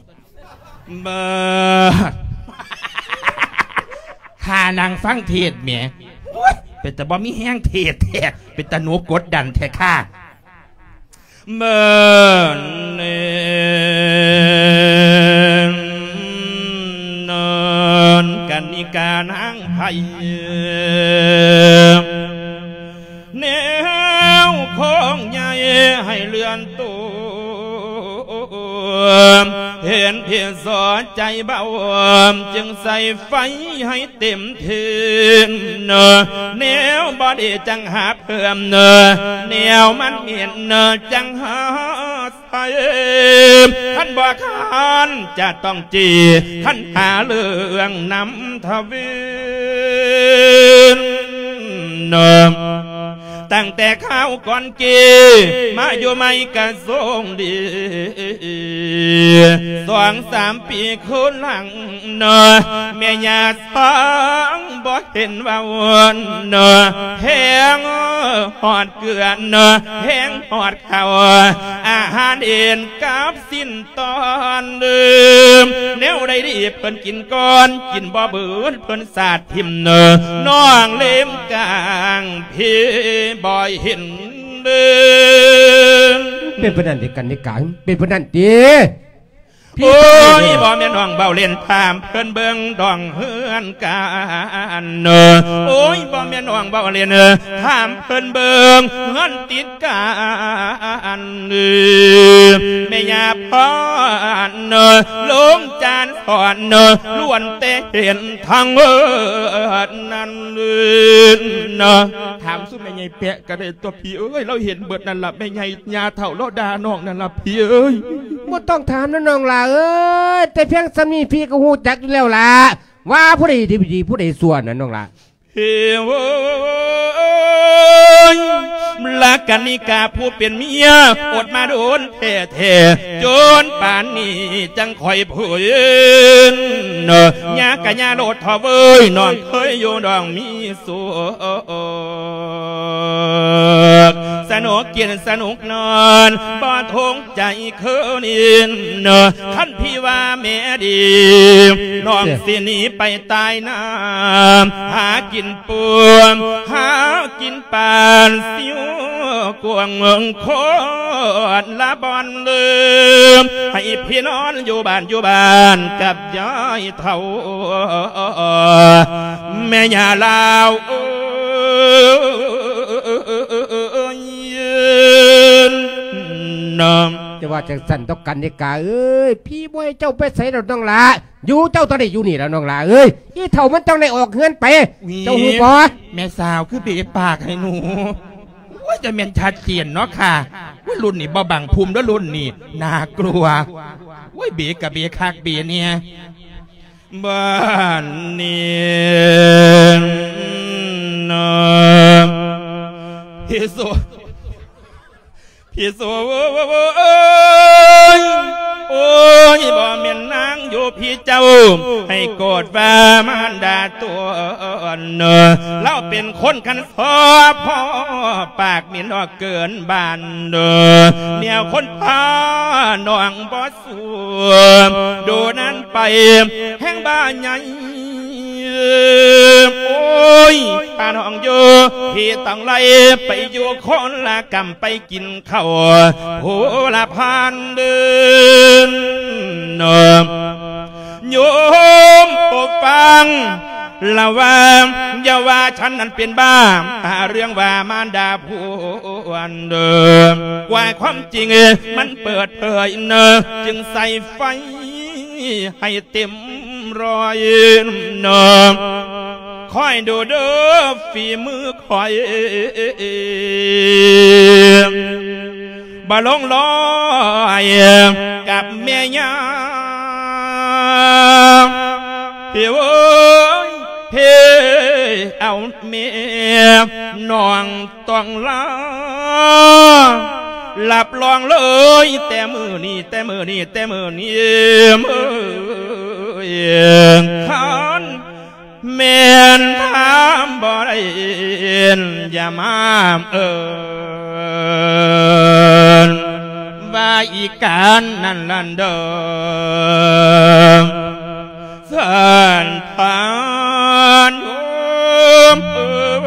ເບິ່ງ ຖ້ານັ່ງຟັງເທດແໝ ໂອ້ຍ ເປັນຕາບໍ່ມີແຮງເທດແທ້ ເປັນຕາໜູກົດດັນແທ້ຄ່ະ. ເບິ່ງ ນອນກັນນິການາງໄພ ແນວຂອງໃຫຍ່ໃຫ້ເລື່ອນໂຕ ເຫັນເພດສອດໃຈເບົາ ຈຶ່ງໃສ່ໄຟໃຫ້ເຕັມເທີນ ແນວບໍ່ດີຈັ່ງຫາເພີ່ມ ແນວມັນເໝັນຈັ່ງຫາ ໄປ ຄັນບໍ່ຄັນຈະຕ້ອງຈີ່ ຄັນຫາເລື່ອງນຳທະວິນ ຕັ້ງແຕ່ຄາວກ່ອນກີ້ ມາຢູ່ໃໝ່ກະຊົງດີ ສອງສາມປີຄືນຫຼັງ ແມ່ຍ່າສາງບໍ່ເຫັນວ່າວົນ ແພງຮອດເກືອ ແພງຮອດເຂົ້າ ອາຫານເອັນກັບຊີ້ນຕອນ ແນວໃດດີເພິ່ນກິນກ່ອນ ກິນບໍ່ເບີດເພິ່ນສາດຖິ້ມ ນ້ອງເລັມກາງພີບໍ່ເຫັນ ເປັນປານນັ້ນຕິກັນນິກາ ເປັນປານນັ້ນຕິ? ໂອ້ຍ ບໍ່ແມ່ນນ້ອງເວົ້າເລ່ນ ຖາມເພິ່ນເບິ່ງດອງເຮືອນການ ໂອ້ຍ ບໍ່ແມ່ນນ້ອງເວົ້າເລ່ນ ຖາມເພິ່ນເບິ່ງເຮືອນຕິດກັນ ແມ່ຍ່າພອນ ລຸງຈານສອນ ລ້ວນແຕ່ເຫັນທັງເບີດນັ້ນ ຖາມສູ່ແມ່ໃຫຍ່ແປະ ກະໄດ້ຕົວະພີ່ເອີຍ ລາວເຫັນເບິດນັ້ນລະ ແມ່ໃຫຍ່ຍ່າເຖົ້າລາວດ່ານ້ອງນັ້ນລະພີ່ເອີຍ. ບໍ່ຕ້ອງຖາມນະນ້ອງຫຼ້າເອີຍ ແຕ່ພຽງສ່ຳນີ້ພີ່ກໍຮູ້ຈັກຢູ່ແລ້ວລະ ວ່າຜູ້ໃດດີ ຜູ້ໃດຊົ່ວນະນ້ອງຫຼ້າ. ເອີຍ ລະກະນິກາຜູ້ເປັນເມຍ ອົດມາດົນແທ້ໆ ຈົນປານນີ້ຈັ່ງຄ່ອຍຟື້ນ. ຢ່າກະຢ່າໂລດເຖາະເວີຍ ນ້ອງເຄີຍຢູ່ນ້ອງມີສຸກ ສະໜຸກກິນສະໜຸກນອນ ບໍ່ທຸກ ໃຈຄືນິນ ຄັນພີ່ວ່າແມ່ດີ ນ້ອງຊິໜີໄປຕາຍນາ ຫາກິນປູ ຫາກິນປານ ຊິວກວາງເມືອງຄົນລະບ່ອນເດີ ໃຫ້ພີ່ນອນຢູ່ບ້ານຢູ່ບ້ານກັບຍາຍເຖົ້າ ແມ່ຍ່າລາວເອີຍ. ຈະວ່າຈັ່ງຊັ້ນດອກກັນນິກາເອີຍ ພີ່ບໍ່ໃຫ້ເຈົ້າໄປໃສດອກນ້ອງຫຼ້າ ຢູ່ເຈົ້າຕ້ອງໄດ້ຢູ່ນີ້ລະນ້ອງຫຼ້າເອີຍ ອີເຖົ້າມັນຕ້ອງໄດ້ອອກເຮືອນໄປ ເຈົ້າຮູ້ບໍ່? ແມ່ສາວຄືເບປາກໃຫ້ໜູ ໂອ້ຍ ຈະແມ່ນຊັດເຈນເນາະຄ່ະ ໂອ້ຍ ລຸ້ນນີ້ບໍ່ບັງພຸ່ມເດີ ລຸ້ນນີ້ໜ້າກົວ ໂອ້ຍ ເບກະເບຄັກເບແນ່. ບາດນີ້ນະ ພີ່ໂສ ພີ່ໂສເອີຍ ໂອ້ຍ ບໍ່ແມ່ນນາງຢູ່ພີ່ເຈົ້າ ໃຫ້ໂກດວ່າມານດາຕົວເນາະ ລາວເປັນຄົນຄັນຊອບພໍປາກ ມີນອກເກີນບ້ານເດີ ແນວຄົນພານ້ອງບໍ່ ສວມໂດນັ້ນໄປແຮງບ້າໃຫຍ່ ໂອ້ຍ ພານ້ອງຢູ່ ພີ່ຕ້ອງໄລ່ໄປຢູ່ຄົນລະກຳ ໄປກິນເຂົ້າຜູ້ລະພັນເດີ ໂຍມໂປດຟັງ ລະວັງ ຢ່າວ່າສັນນັ້ນເປັນບ້າ ຫາເລື່ອງວ່າມານດາຜົວເດີ ກວ່າຄວາມຈິງມັນເປີດເຜີຍເນີ ຈຶ່ງໃສ່ໄຟໃຫ້ເຕັມຮ້ອຍເນີ ຄອຍດູເດີຝີມືຂ້ອຍ ບໍ່ລົງລອຍກັບແມ່ຍ່າ ເພເອີຍ ເພເອົາແມ່ ນ້ອງຕ້ອງລາ ຮັບຮອງເລີຍ ແຕ່ມື້ນີ້ ແຕ່ມື້ນີ້ ແຕ່ມື້ນີ້ ເອີຍ ຄັນ ແມ່ນຖາມບໍ່ໄດ້ ຢ່າມາເອີ້ນວ່າອີການນັ້ນລະເດີ ສັນທານໂຍມເອີຍ.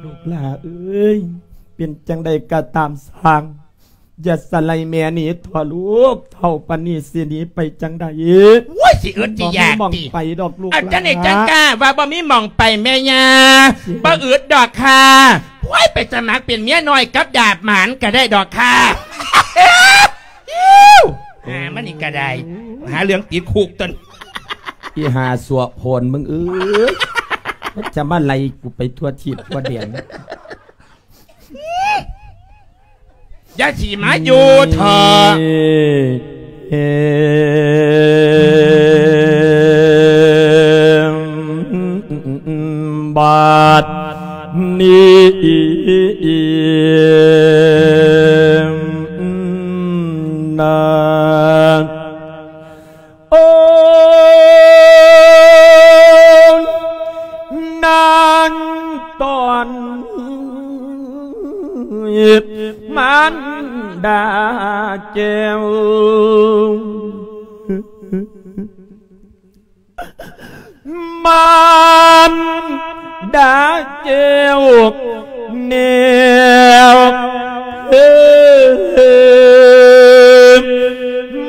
ລູກຫຼ້າເອີຍ ເປັນຈັ່ງໃດກໍຕາມຊ່າງ ຢ່າສະໄລແມ່ໜີເຖາະລູກ ເຖົ້າປານນີ້ຊິໜີໄປຈັ່ງໃດ? ໂອ້ຍ ຊິອຶດຊິຢາກຕິ ບໍ່ມີໝ່ອງໄປດອກລູກ ເອົາ ຫຼ້າ ຈັ່ງໃດຈັ່ງກ້າວ່າບໍ່ມີໝ່ອງໄປແມ່ຍ່າ ຊິ ບໍ່ອຶດດອກຄ່ະ ໂອ້ຍ ໄປສະໝັກເປັນເມຍນ້ອຍກັບດາບໝານກໍໄດ້ດອກຄ່ະ ຫາມັນນີ້ກໍໄດ້ ຫາເລື່ອງຕິດຄຸກຕົນ ອີ່ຫ່າຊົ່ວໂພນມຶງເອີຍ ຈະມາໄລ່ກູໄປທົ່ວທີບທົ່ວແດນ. ຢ່າຊິມາຢູ່ເຖາະ ບາດນີ້ນາ ໂອ້ ນາງຕອນມານດາແກ້ວ ມານດາແກ້ວ ແນວເອີຍ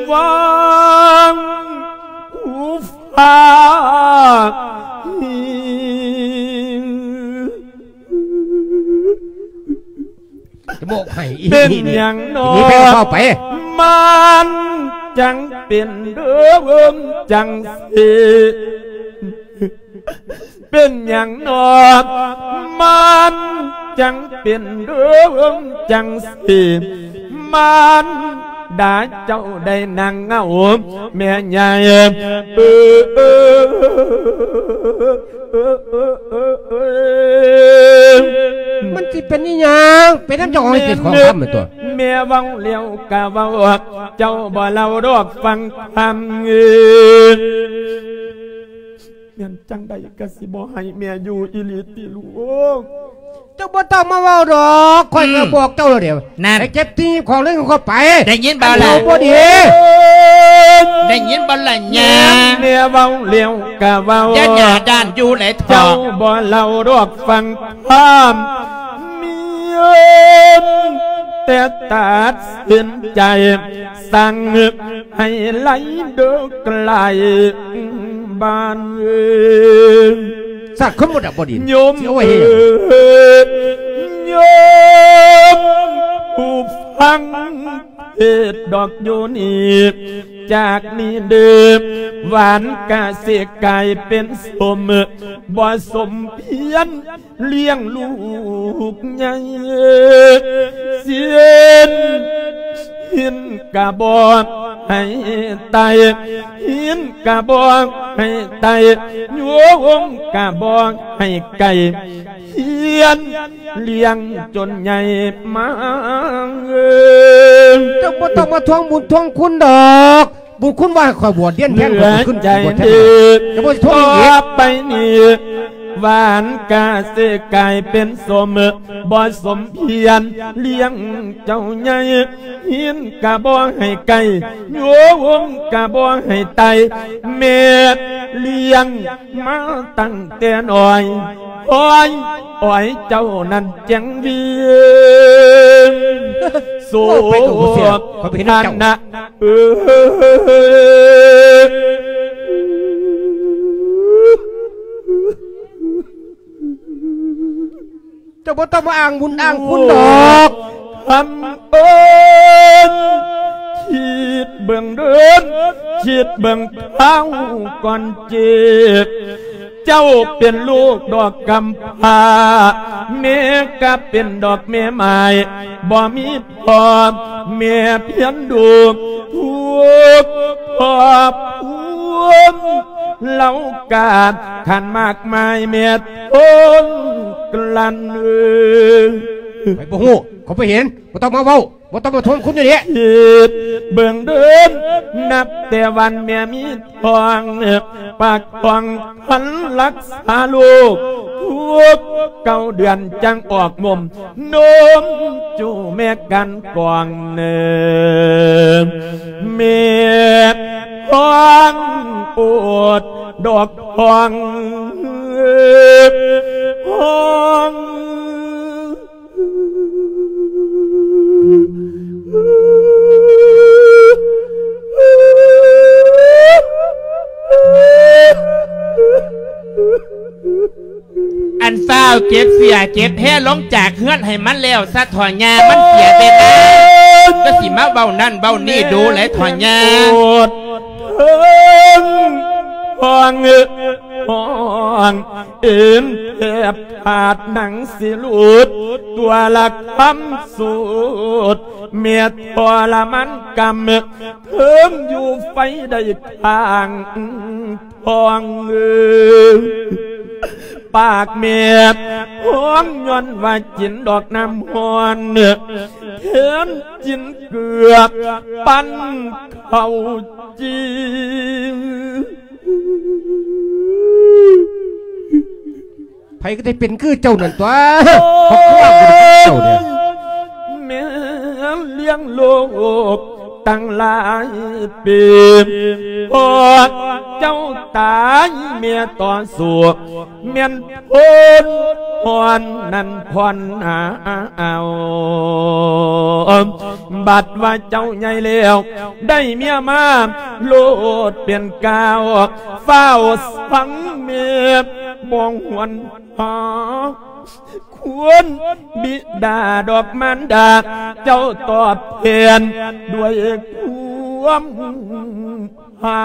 ຫວັງ ຜູ້ຝາກ ໂປະໃຫ້ອີ່ ເປັນຫຍັງນໍ ນີ້ໄປເຂົ້າໄປ ມັນຈັ່ງເປັນເດີເບິ່ງຈັ່ງຊີ້ ເປັນຫຍັງນໍ ມັນຈັ່ງເປັນເດີເບິ່ງຈັ່ງຊີ້ ມານດາເຈົ້າໄດ້ນັ່ງເງົາແມ່ໃຫຍ່ ເອີ ເອີ ເອີ ເອີ ເອີ ມັນຊິເປັນອີ່ຫຍັງ ເປັນນຳເຈົ້າຂອງເຮັດຂອງທຳແມ່ນຕົວະ ແມ່ເວົ້າແລ້ວກະເວົ້າ ເຈົ້າບໍ່ເລົ່າດອກຟັງຄຳ ແມ່ນຈັ່ງໃດກະຊິບໍ່ໃຫ້ແມ່ຢູ່ອີ່ຫຼີຕິລູກ? ເຈົ້າບໍ່ຕ້ອງມາເວົ້າດອກ ຂ້ອຍກະບອກເຈົ້າແລ້ວເດ ນັ້ນ ໃຫ້ເກັບທີ່ຂອງເລື່ອງຂອງຂ້ອຍໄປ ໄດ້ຍິນບໍ່ລະ? ອັນເຈົ້າບໍ່ດີ ໄດ້ຍິນບໍ່ລະຍາ? ແມ່ເວົ້າແລ້ວກະເວົ້າ ຢ່າໜ້າດ້ານຢູ່ແຫຼະເຖາະ ເຈົ້າບໍ່ເລົ່າດອກຟັງຄຳ ແມ່ນແຕ່ຕັດສິນໃຈ ສັ່ງໃຫ້ໄລ່ເດີໄກລບ້ານເອີຍ ສັດຄົນບໍ່ດັບບໍ່ດິນ ໂຍມ ຊິເອົາໄວ້ເຮັດຫຍັງ? ໂຍມຜູ້ຟັງເທດດອກຢູ່ນີ້ ຈາກນີ້ເດີ ຫວານກະຊິກາຍເປັນສົມ ບໍ່ສົມພຽນ ລ້ຽງລູກໃຫຍ່ ເຊນ ຫີນກະບອກໃຫ້ໄຕ່ ຫີນກະບອກໃຫ້ໄຕ່ ໂຍງກະບອກໃຫ້ໄກ່ ຮຽນລ້ຽງຈົນໃຫຍ່ມາ ເຈົ້າບໍ່ຕ້ອງມາທວງບຸນທວງຄຸນດອກ ບຸນຄຸນວ່າໃຫ້ຂ້ອຍບວດຮຽນແທນ ເໝືອນໃຈ ຂ້ອຍຂຶ້ນບວດແທນ ເດີ ຈະບໍ່ຊິໂທດອີກ ຕໍ່ໄປນີ້ ຫວານກະຊິກາຍເປັນສົມ ບໍ່ສົມພຽນ ລ້ຽງເຈົ້າໃຫຍ່ ຫີນກະບອກໃຫ້ໄກ່ ໂຍງກະບອກໃຫ້ໄຕ່ ແມ່ລ້ຽງມາຕັ້ງແຕ່ນ້ອຍ ໂອ້ຍ ໂອ້ຍ ເຈົ້ານັ້ນຈັ່ງວຽນ ໂສ ເວົ້າໄປກໍບໍ່ເຊື່ອ ຂ້ອຍບໍ່ເຫັນນຳເຈົ້າ ເອີ ເຈົ້າບໍ່ຕ້ອງມາອ້າງບຸນອ້າງຄຸນດອກ ຄຳເອີຍ ຄິດເບິ່ງເດີ ຄິດເບິ່ງເອົາກ່ອນເຈັບ ເຈົ້າເປັນລູກດອກກຳພ້າ ແມ່ກະເປັນດອກແມ່ໝ້າຍ ບໍ່ມີພໍ່ແມ່ພຽນດູ ທຸກຄອບຄົວເຫຼົ່າການ ຂັນມາກມາຍແມ່ທົນກລັ້ນ ເອີ ຂ້ອຍບໍ່ຮູ້ ຂ້ອຍບໍ່ເຫັນ ບໍ່ຕ້ອງມາເວົ້າ ບໍ່ຕ້ອງມາທວງຄຸນຢູ່ນີ້ ຄິດເບິ່ງເດີ ນັບແຕ່ວັນແມ່ມີທ້ອງ ປາກທ້ອງພັນລັກສາລູກ ທຸກເກົ້າເດືອນຈັ່ງອອກນົມ ນົມຈູແມ່ກັນກ່ອງເນີ ແມ່ທ້ອງໂອດດອກທ້ອງ ຮ້ອງ ອັນຟ້າວເກັບເສື້ອເກັບແພລົງຈາກເຮືອນໃຫ້ມັນແລ້ວຊະເຖາະຍ່າ ມັນເສຍເວລາ ຈະຊິມາເວົ້ານັ້ນເວົ້ານີ້ດູຫຼາຍເຖາະຍ່າ ໂອດເຖິງຫ້ອງ ຮ້ອງເອັນແທບຂາດໜັງຊິຫຼຸດ ຕົວລະຄຳສູດ ແມ່ທໍລະມານກຳ ເຖິງຢູ່ໄຟໄດ້ຂ້າງທ້ອງ ປາກແມ່ຮ້ອງຍ້ອນວ່າກິນດອກນ້ຳຮ້ອນ ແທນກິນເກືອກປັ່ນເຂົ້າຈີ່ ໃຜກໍໄດ້ເປັນຄືເຈົ້ານັ້ນຕົວະ ເຈົ້າເດ້ ແມ່ລ້ຽງລູກຕັ້ງຫຼາຍປີ ພໍເຈົ້າຕາຍແມ່ຕໍ່ສູ້ ແມ່ນພົ້ນພອນນັ້ນພອນເອົາ ບັດວ່າເຈົ້າໃຫຍ່ແລ້ວ ໄດ້ເມຍມາໂລດເປັນກ້າວ ຟ້າວສັງເມດ ບໍ່ຫວນຫາ ຄວນບິດາດອກມານດາ ເຈົ້າຕອບແທນດ້ວຍຄວາມໃຫ້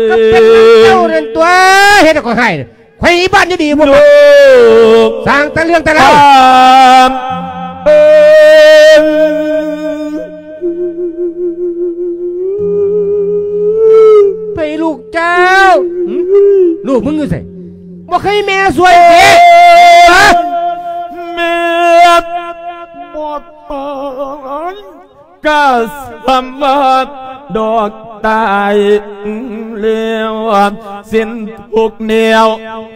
ກໍເປັນນຳເຈົ້ານັ້ນຕົວະ ເຮັດໃຫ້ຂ້ອຍຮ້າຍ. ໄຂບ້ານຢູ່ດີບໍ່ ລູກ ສ້າງແຕ່ເລື່ອງແຕ່ລາວ ເອີ ໄປລູກເຈົ້າ ຫຶ? ລູກມຶງຢູ່ໃສ? ບໍ່ເຄີຍແມ່ຊ່ວຍເດ້ ຫະ? ແມ່ບໍ່ຕາຍ ກະສຳວ່າດອກຕາຍແລ້ວ ເສັ້ນທຸກແນວ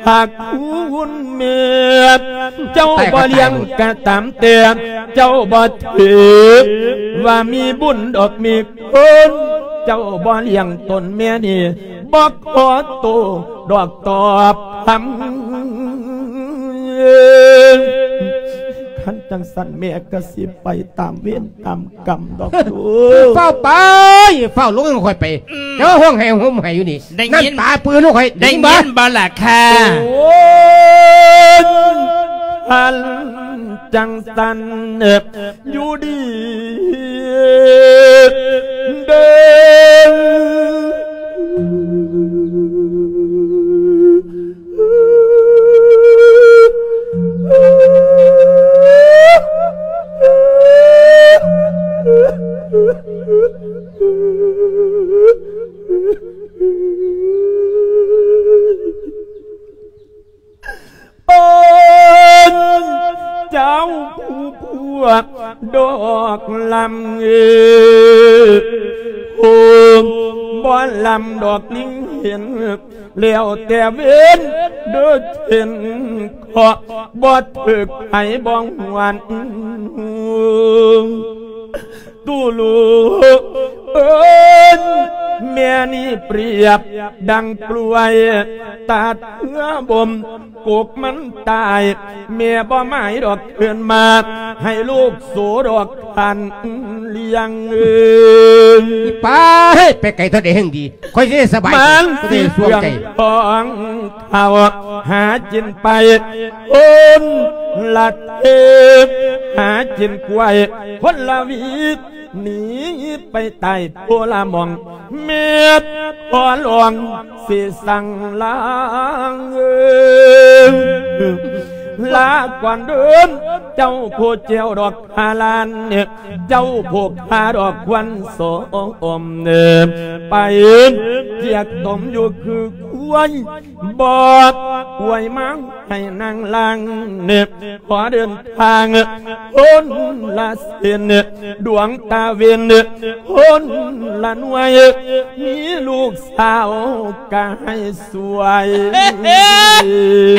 ຫາກຄຸນແມ່ ເຈົ້າບໍ່ລ້ຽງກະຕາມແຕ່ ເຈົ້າບໍ່ຖືວ່າມີບຸນດອກມີຄຸນ ເຈົ້າບໍ່ລ້ຽງຕົນແມ່ນີ້ ບໍ່ຂໍໂຕດອກຕອບຄຳ ຄັນຈັ່ງຊັ້ນແມ່ກະຊິໄປຕາມເວນຕາມກຳດອກລູກ ຟ້າວໄປ ຟ້າວລົງໃຫ້ຂ້ອຍໄປ ອືມ ເຈົ້າຮ້ອງໄຫ້ໂຮມໄຫ້ຢູ່ນີ້ ໄດ້ຍິນ ນ້ຳຕາປືນໃຫ້ຂ້ອຍ ໄດ້ຍິນບໍ່ ໄດ້ຍິນບໍ່ລະຄ່າ ໂອ້ຍ ຄັນຈັ່ງຊັ້ນ ຢູ່ດີເດີ ເປັນເຈົ້າຜູ້ພວກດອກລຳເອີ ໂຮມບໍ່ລຳດອກລິງເຫັນ ແລ້ວແຕ່ເວນເດີເຫັນເຄາະ ບໍ່ຖືກໃຜບໍ່ຫວນ ຕູ້ລູກເອີຍ ແມ່ນີ້ປຽບດັ່ງກ້ວຍ ຕາດເພື່ອບົ່ມກົກມັນຕາຍ ແມ່ບໍ່ໝາຍດອກເພິ່ນມາ ໃຫ້ລູກໂສດອກຄັນລ້ຽງເອີຍ ໄປ ໄປໄກເທົ່າໃດແຮ່ງດີ ຂ້ອຍຊິໄດ້ສະບາຍໃຈ ມັນຊິໄດ້ສວງໃຈ ຂອງເຂົາຫາກິນໄປ ຄົນລະເທບ ຫາກິນກ້ວຍຄົນລະຫວີ ໜີໄປໃຕ້ໂພລະໝ່ອງ ແມ່ຂໍລອງຊິສັ່ງລາເອີຍ ລາກ່ອນເດີ ເຈົ້າໂພແກ້ວດອກ ຫາລ້ານ ເຈົ້າຜູ້ຂ້າດອກຄວັນສອມ ໄປຈຽກຕົມຢູ່ຄືຄວາຍ ບອດອວຍມາໃຫ້ນາງລາງ ຂໍເດີນທາງຄົນລະເສັ້ນ ດວງຕາເວັນຄົນລະໜ່ວຍ ມີລູກສາວກະໃຫ້ ສວຍ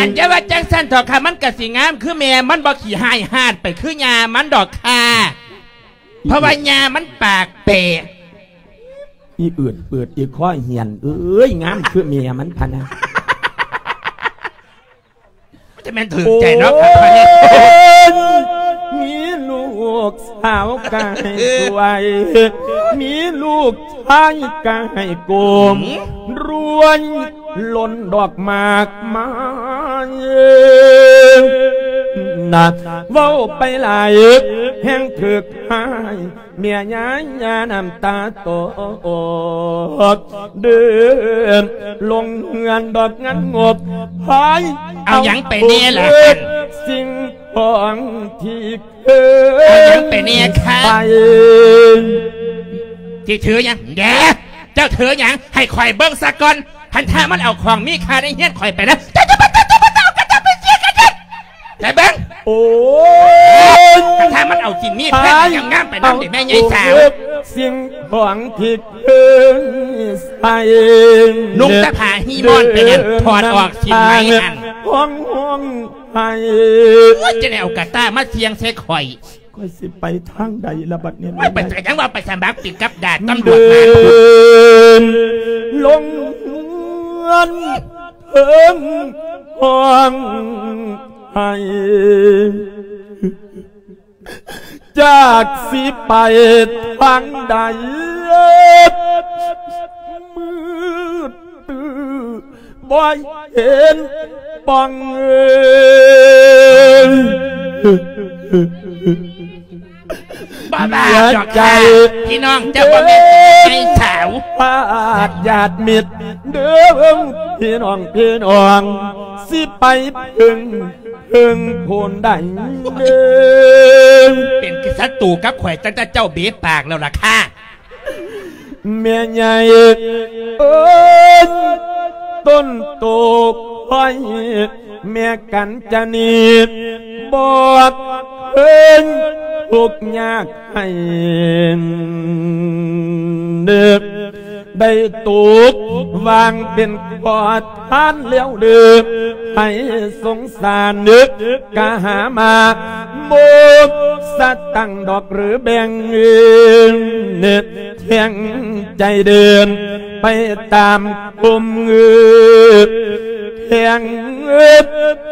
ອັນຢ່າວ່າຈັ່ງຊັ້ນເຖາະຄ່າ ມັນກະຊິງາມຄືແມ່ ມັນບໍ່ຂີ້ຮ້າຍຫາດໄປຄືຍ່າມັນດອກຄ່າ ເພາະວ່າຍ່າມັນປາກແປະ ອີເອີດເປີດ ອີຄອຫຽນເອີຍ ງາມຄືແມ່ມັນພະນະ ຈະແມ່ນຖືກໃຈເນາະ ໂອ້ຍ ມີລູກສາວກະໃຫ້ສວຍ ມີລູກຊາຍກະໃຫ້ໂກມ ຮວຍ ຫຼົ່ນດອກໝາກໄມ້ ນະ ເວົ້າໄປຫຼາຍແຮ່ງຖືກຮ້າຍ ແມ່ຍາຍານ້ຳຕາຕອກ ເດີນລົງເຮືອນດອກງານງົບ ພາຍ ເອົາຫຍັງໄປແດ່ລະ ເອົາເອົາເອົາສິ່ງຂອງທີ່ເຄີຍ ເອົາຫຍັງໄປແດ່ຄະ ໃສ່ ຊິຖືຫຍັງແດ່ ເຈົ້າຖືຫຍັງ ໃຫ້ຂ້ອຍເບິ່ງສາກ່ອນ ຄັນຖ້າມັນເອົາຂອງມີຄ່າໃນເຮືອນຂ້ອຍໄປນະ ເຈົ້າຈະບໍ່ ເຈົ້າຈະບໍ່ເອົາ ກະເຈົ້າໄປເສຍກະເຈົ້າ ໃຈເບິ່ງ ໂອ້ຍ ຄັນຖ້າມັນເອົາສິ່ງມີຄ່າງາມໆໄປນຳເດແມ່ໃຫຍ່ສາວ ເອົາເອົາສິ່ງຂອງທີ່ເຄີຍໃສ່ ນຸ່ງແຕ່ຜ້າຮີ່ມອນໄປຫັ້ນ ຖອດອອກສິ້ນໄໝຫັ້ນ ຮ້ອງຮ້ອງໄຫ້ ໂອ້ຍ ຈະໄດ້ເອົາກະຕ້າມາສ່ຽງໃສ່ຂ້ອຍ ຂ້ອຍຊິໄປທາງໃດລະບັດນີ້ ໂອ້ຍ ໄປໃສຫຍັງວ່າໄປສະໝັກເປັນກັບດາດຕຳຫຼວດມາ ເດີນລົງເຮືອນ ເພິ່ນຮ້ອງໄຫ້ ຈາກຊິໄປທາງໃດ ມືດຕື້ບໍ່ເຫັນ ປ່ອງເອີຍ ບໍ່ບາດດອກ ເສຍໃຈ ຄ່ະ ພີ່ນ້ອງເຈົ້າບໍ່ແມ່ນໃຫຍ່ສາວ ພາດຍາດມິດເດີ ພີ່ນ້ອງ ພີ່ນ້ອງ ຊິໄປເພິ່ງ ເພິ່ງໂພນໃດເດີ ເປັນສັດຕູກັບຂ້ອຍຕັ້ງແຕ່ເຈົ້າເບະປາກແລ້ວລະຄ່ະ. ແມ່ໃຫຍ່ເອີຍ ຕົ້ນໂຕຂ້ອຍ ແມ່ກັນຈະນີ ບອກເພິ່ນທຸກຍາກໃຫ້ເດີ ໄດ້ຕົກວາງເປັນຂໍທານແລ້ວເດີ ໃຫ້ສົງສານເດີ ກະຫາມາ ໂມກສະຕັງດອກຫຼືແບ່ງ ແຂງໃຈເດີນໄປຕາມກົມເງືອ ແຂງ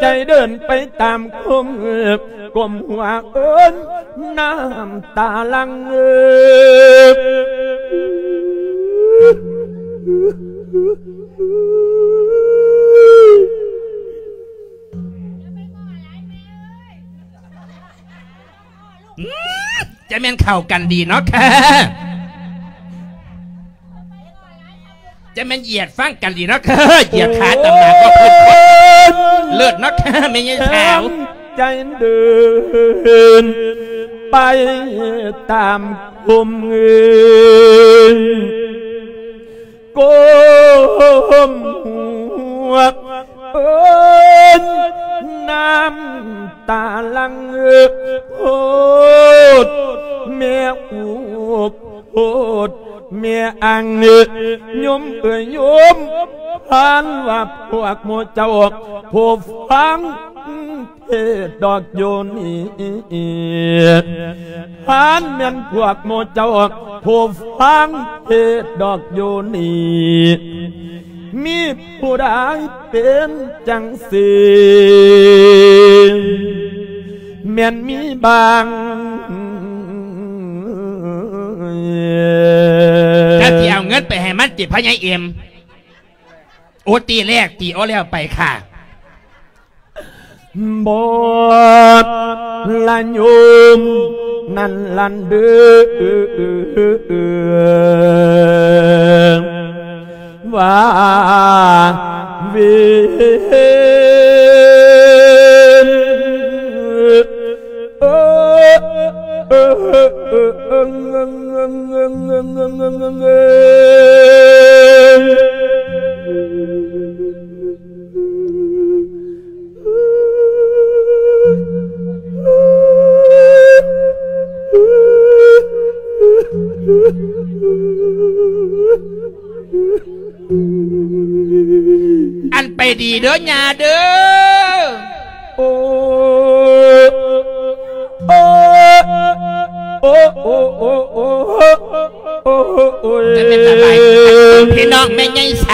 ໃຈເດີນໄປຕາມກົມເງືອ ກົ້ມຫົວເອີ້ນນ້ຳຕາຫຼັ່ງເງືອ. ອືມ ຈະແມ່ນເຂົ້າກັນດີເນາະ ເຄີ ຈະແມ່ນຢຽດຟັງກັນດີເນາະ ເຄີ ຢຽດຂາຕຳໜາກໍເພິ່ນ ເລີດເນາະ ເຄີ ແມ່ໃຫຍ່ສາວ ໃຈເດີນໄປຕາມກົມເງືອ ກົ້ມຫົວເອີ້ນນ້ຳຕາຫຼັ່ງ ໂພດແມ່ອຸກໂພດແມ່ອັ່ງ ໂຍມເອີຍໂຍມ ທ່ານວ່າພວກໝູ່ເຈົ້າ ຜູ້ຟັງ ເທດດອກຢູ່ນີ້ ທ່ານແມ່ນພວກໝູ່ເຈົ້າ ຜູ້ຟັງເທດດອກຢູ່ນີ້ ມີຜູ້ໃດເປັນຈັ່ງຊີ້ ແມ່ນມີບາງ ຈະຊິເອົາເງິນໄປໃຫ້ມັນຕິ ພໍ່ໃຫຍ່ເອັມ? ໂອ ຕີແລກ ຕີ ໂອ ແລ້ວໄປຄ່ະ. ບໍ່ລະໂຍມນັ້ນຫັ້ນເດີ ວ່າເວນ ອັນໄປດີເດີຍ່າເດີ. ໂອ້ ໂອ້ ໂອ້ ໂອ້ ໂອ້ ໂອ້ ໂອ້ຍ ຈະເປັນສະບາຍດີ ພີ່ນ້ອງແມ່ໃຫຍ່ສ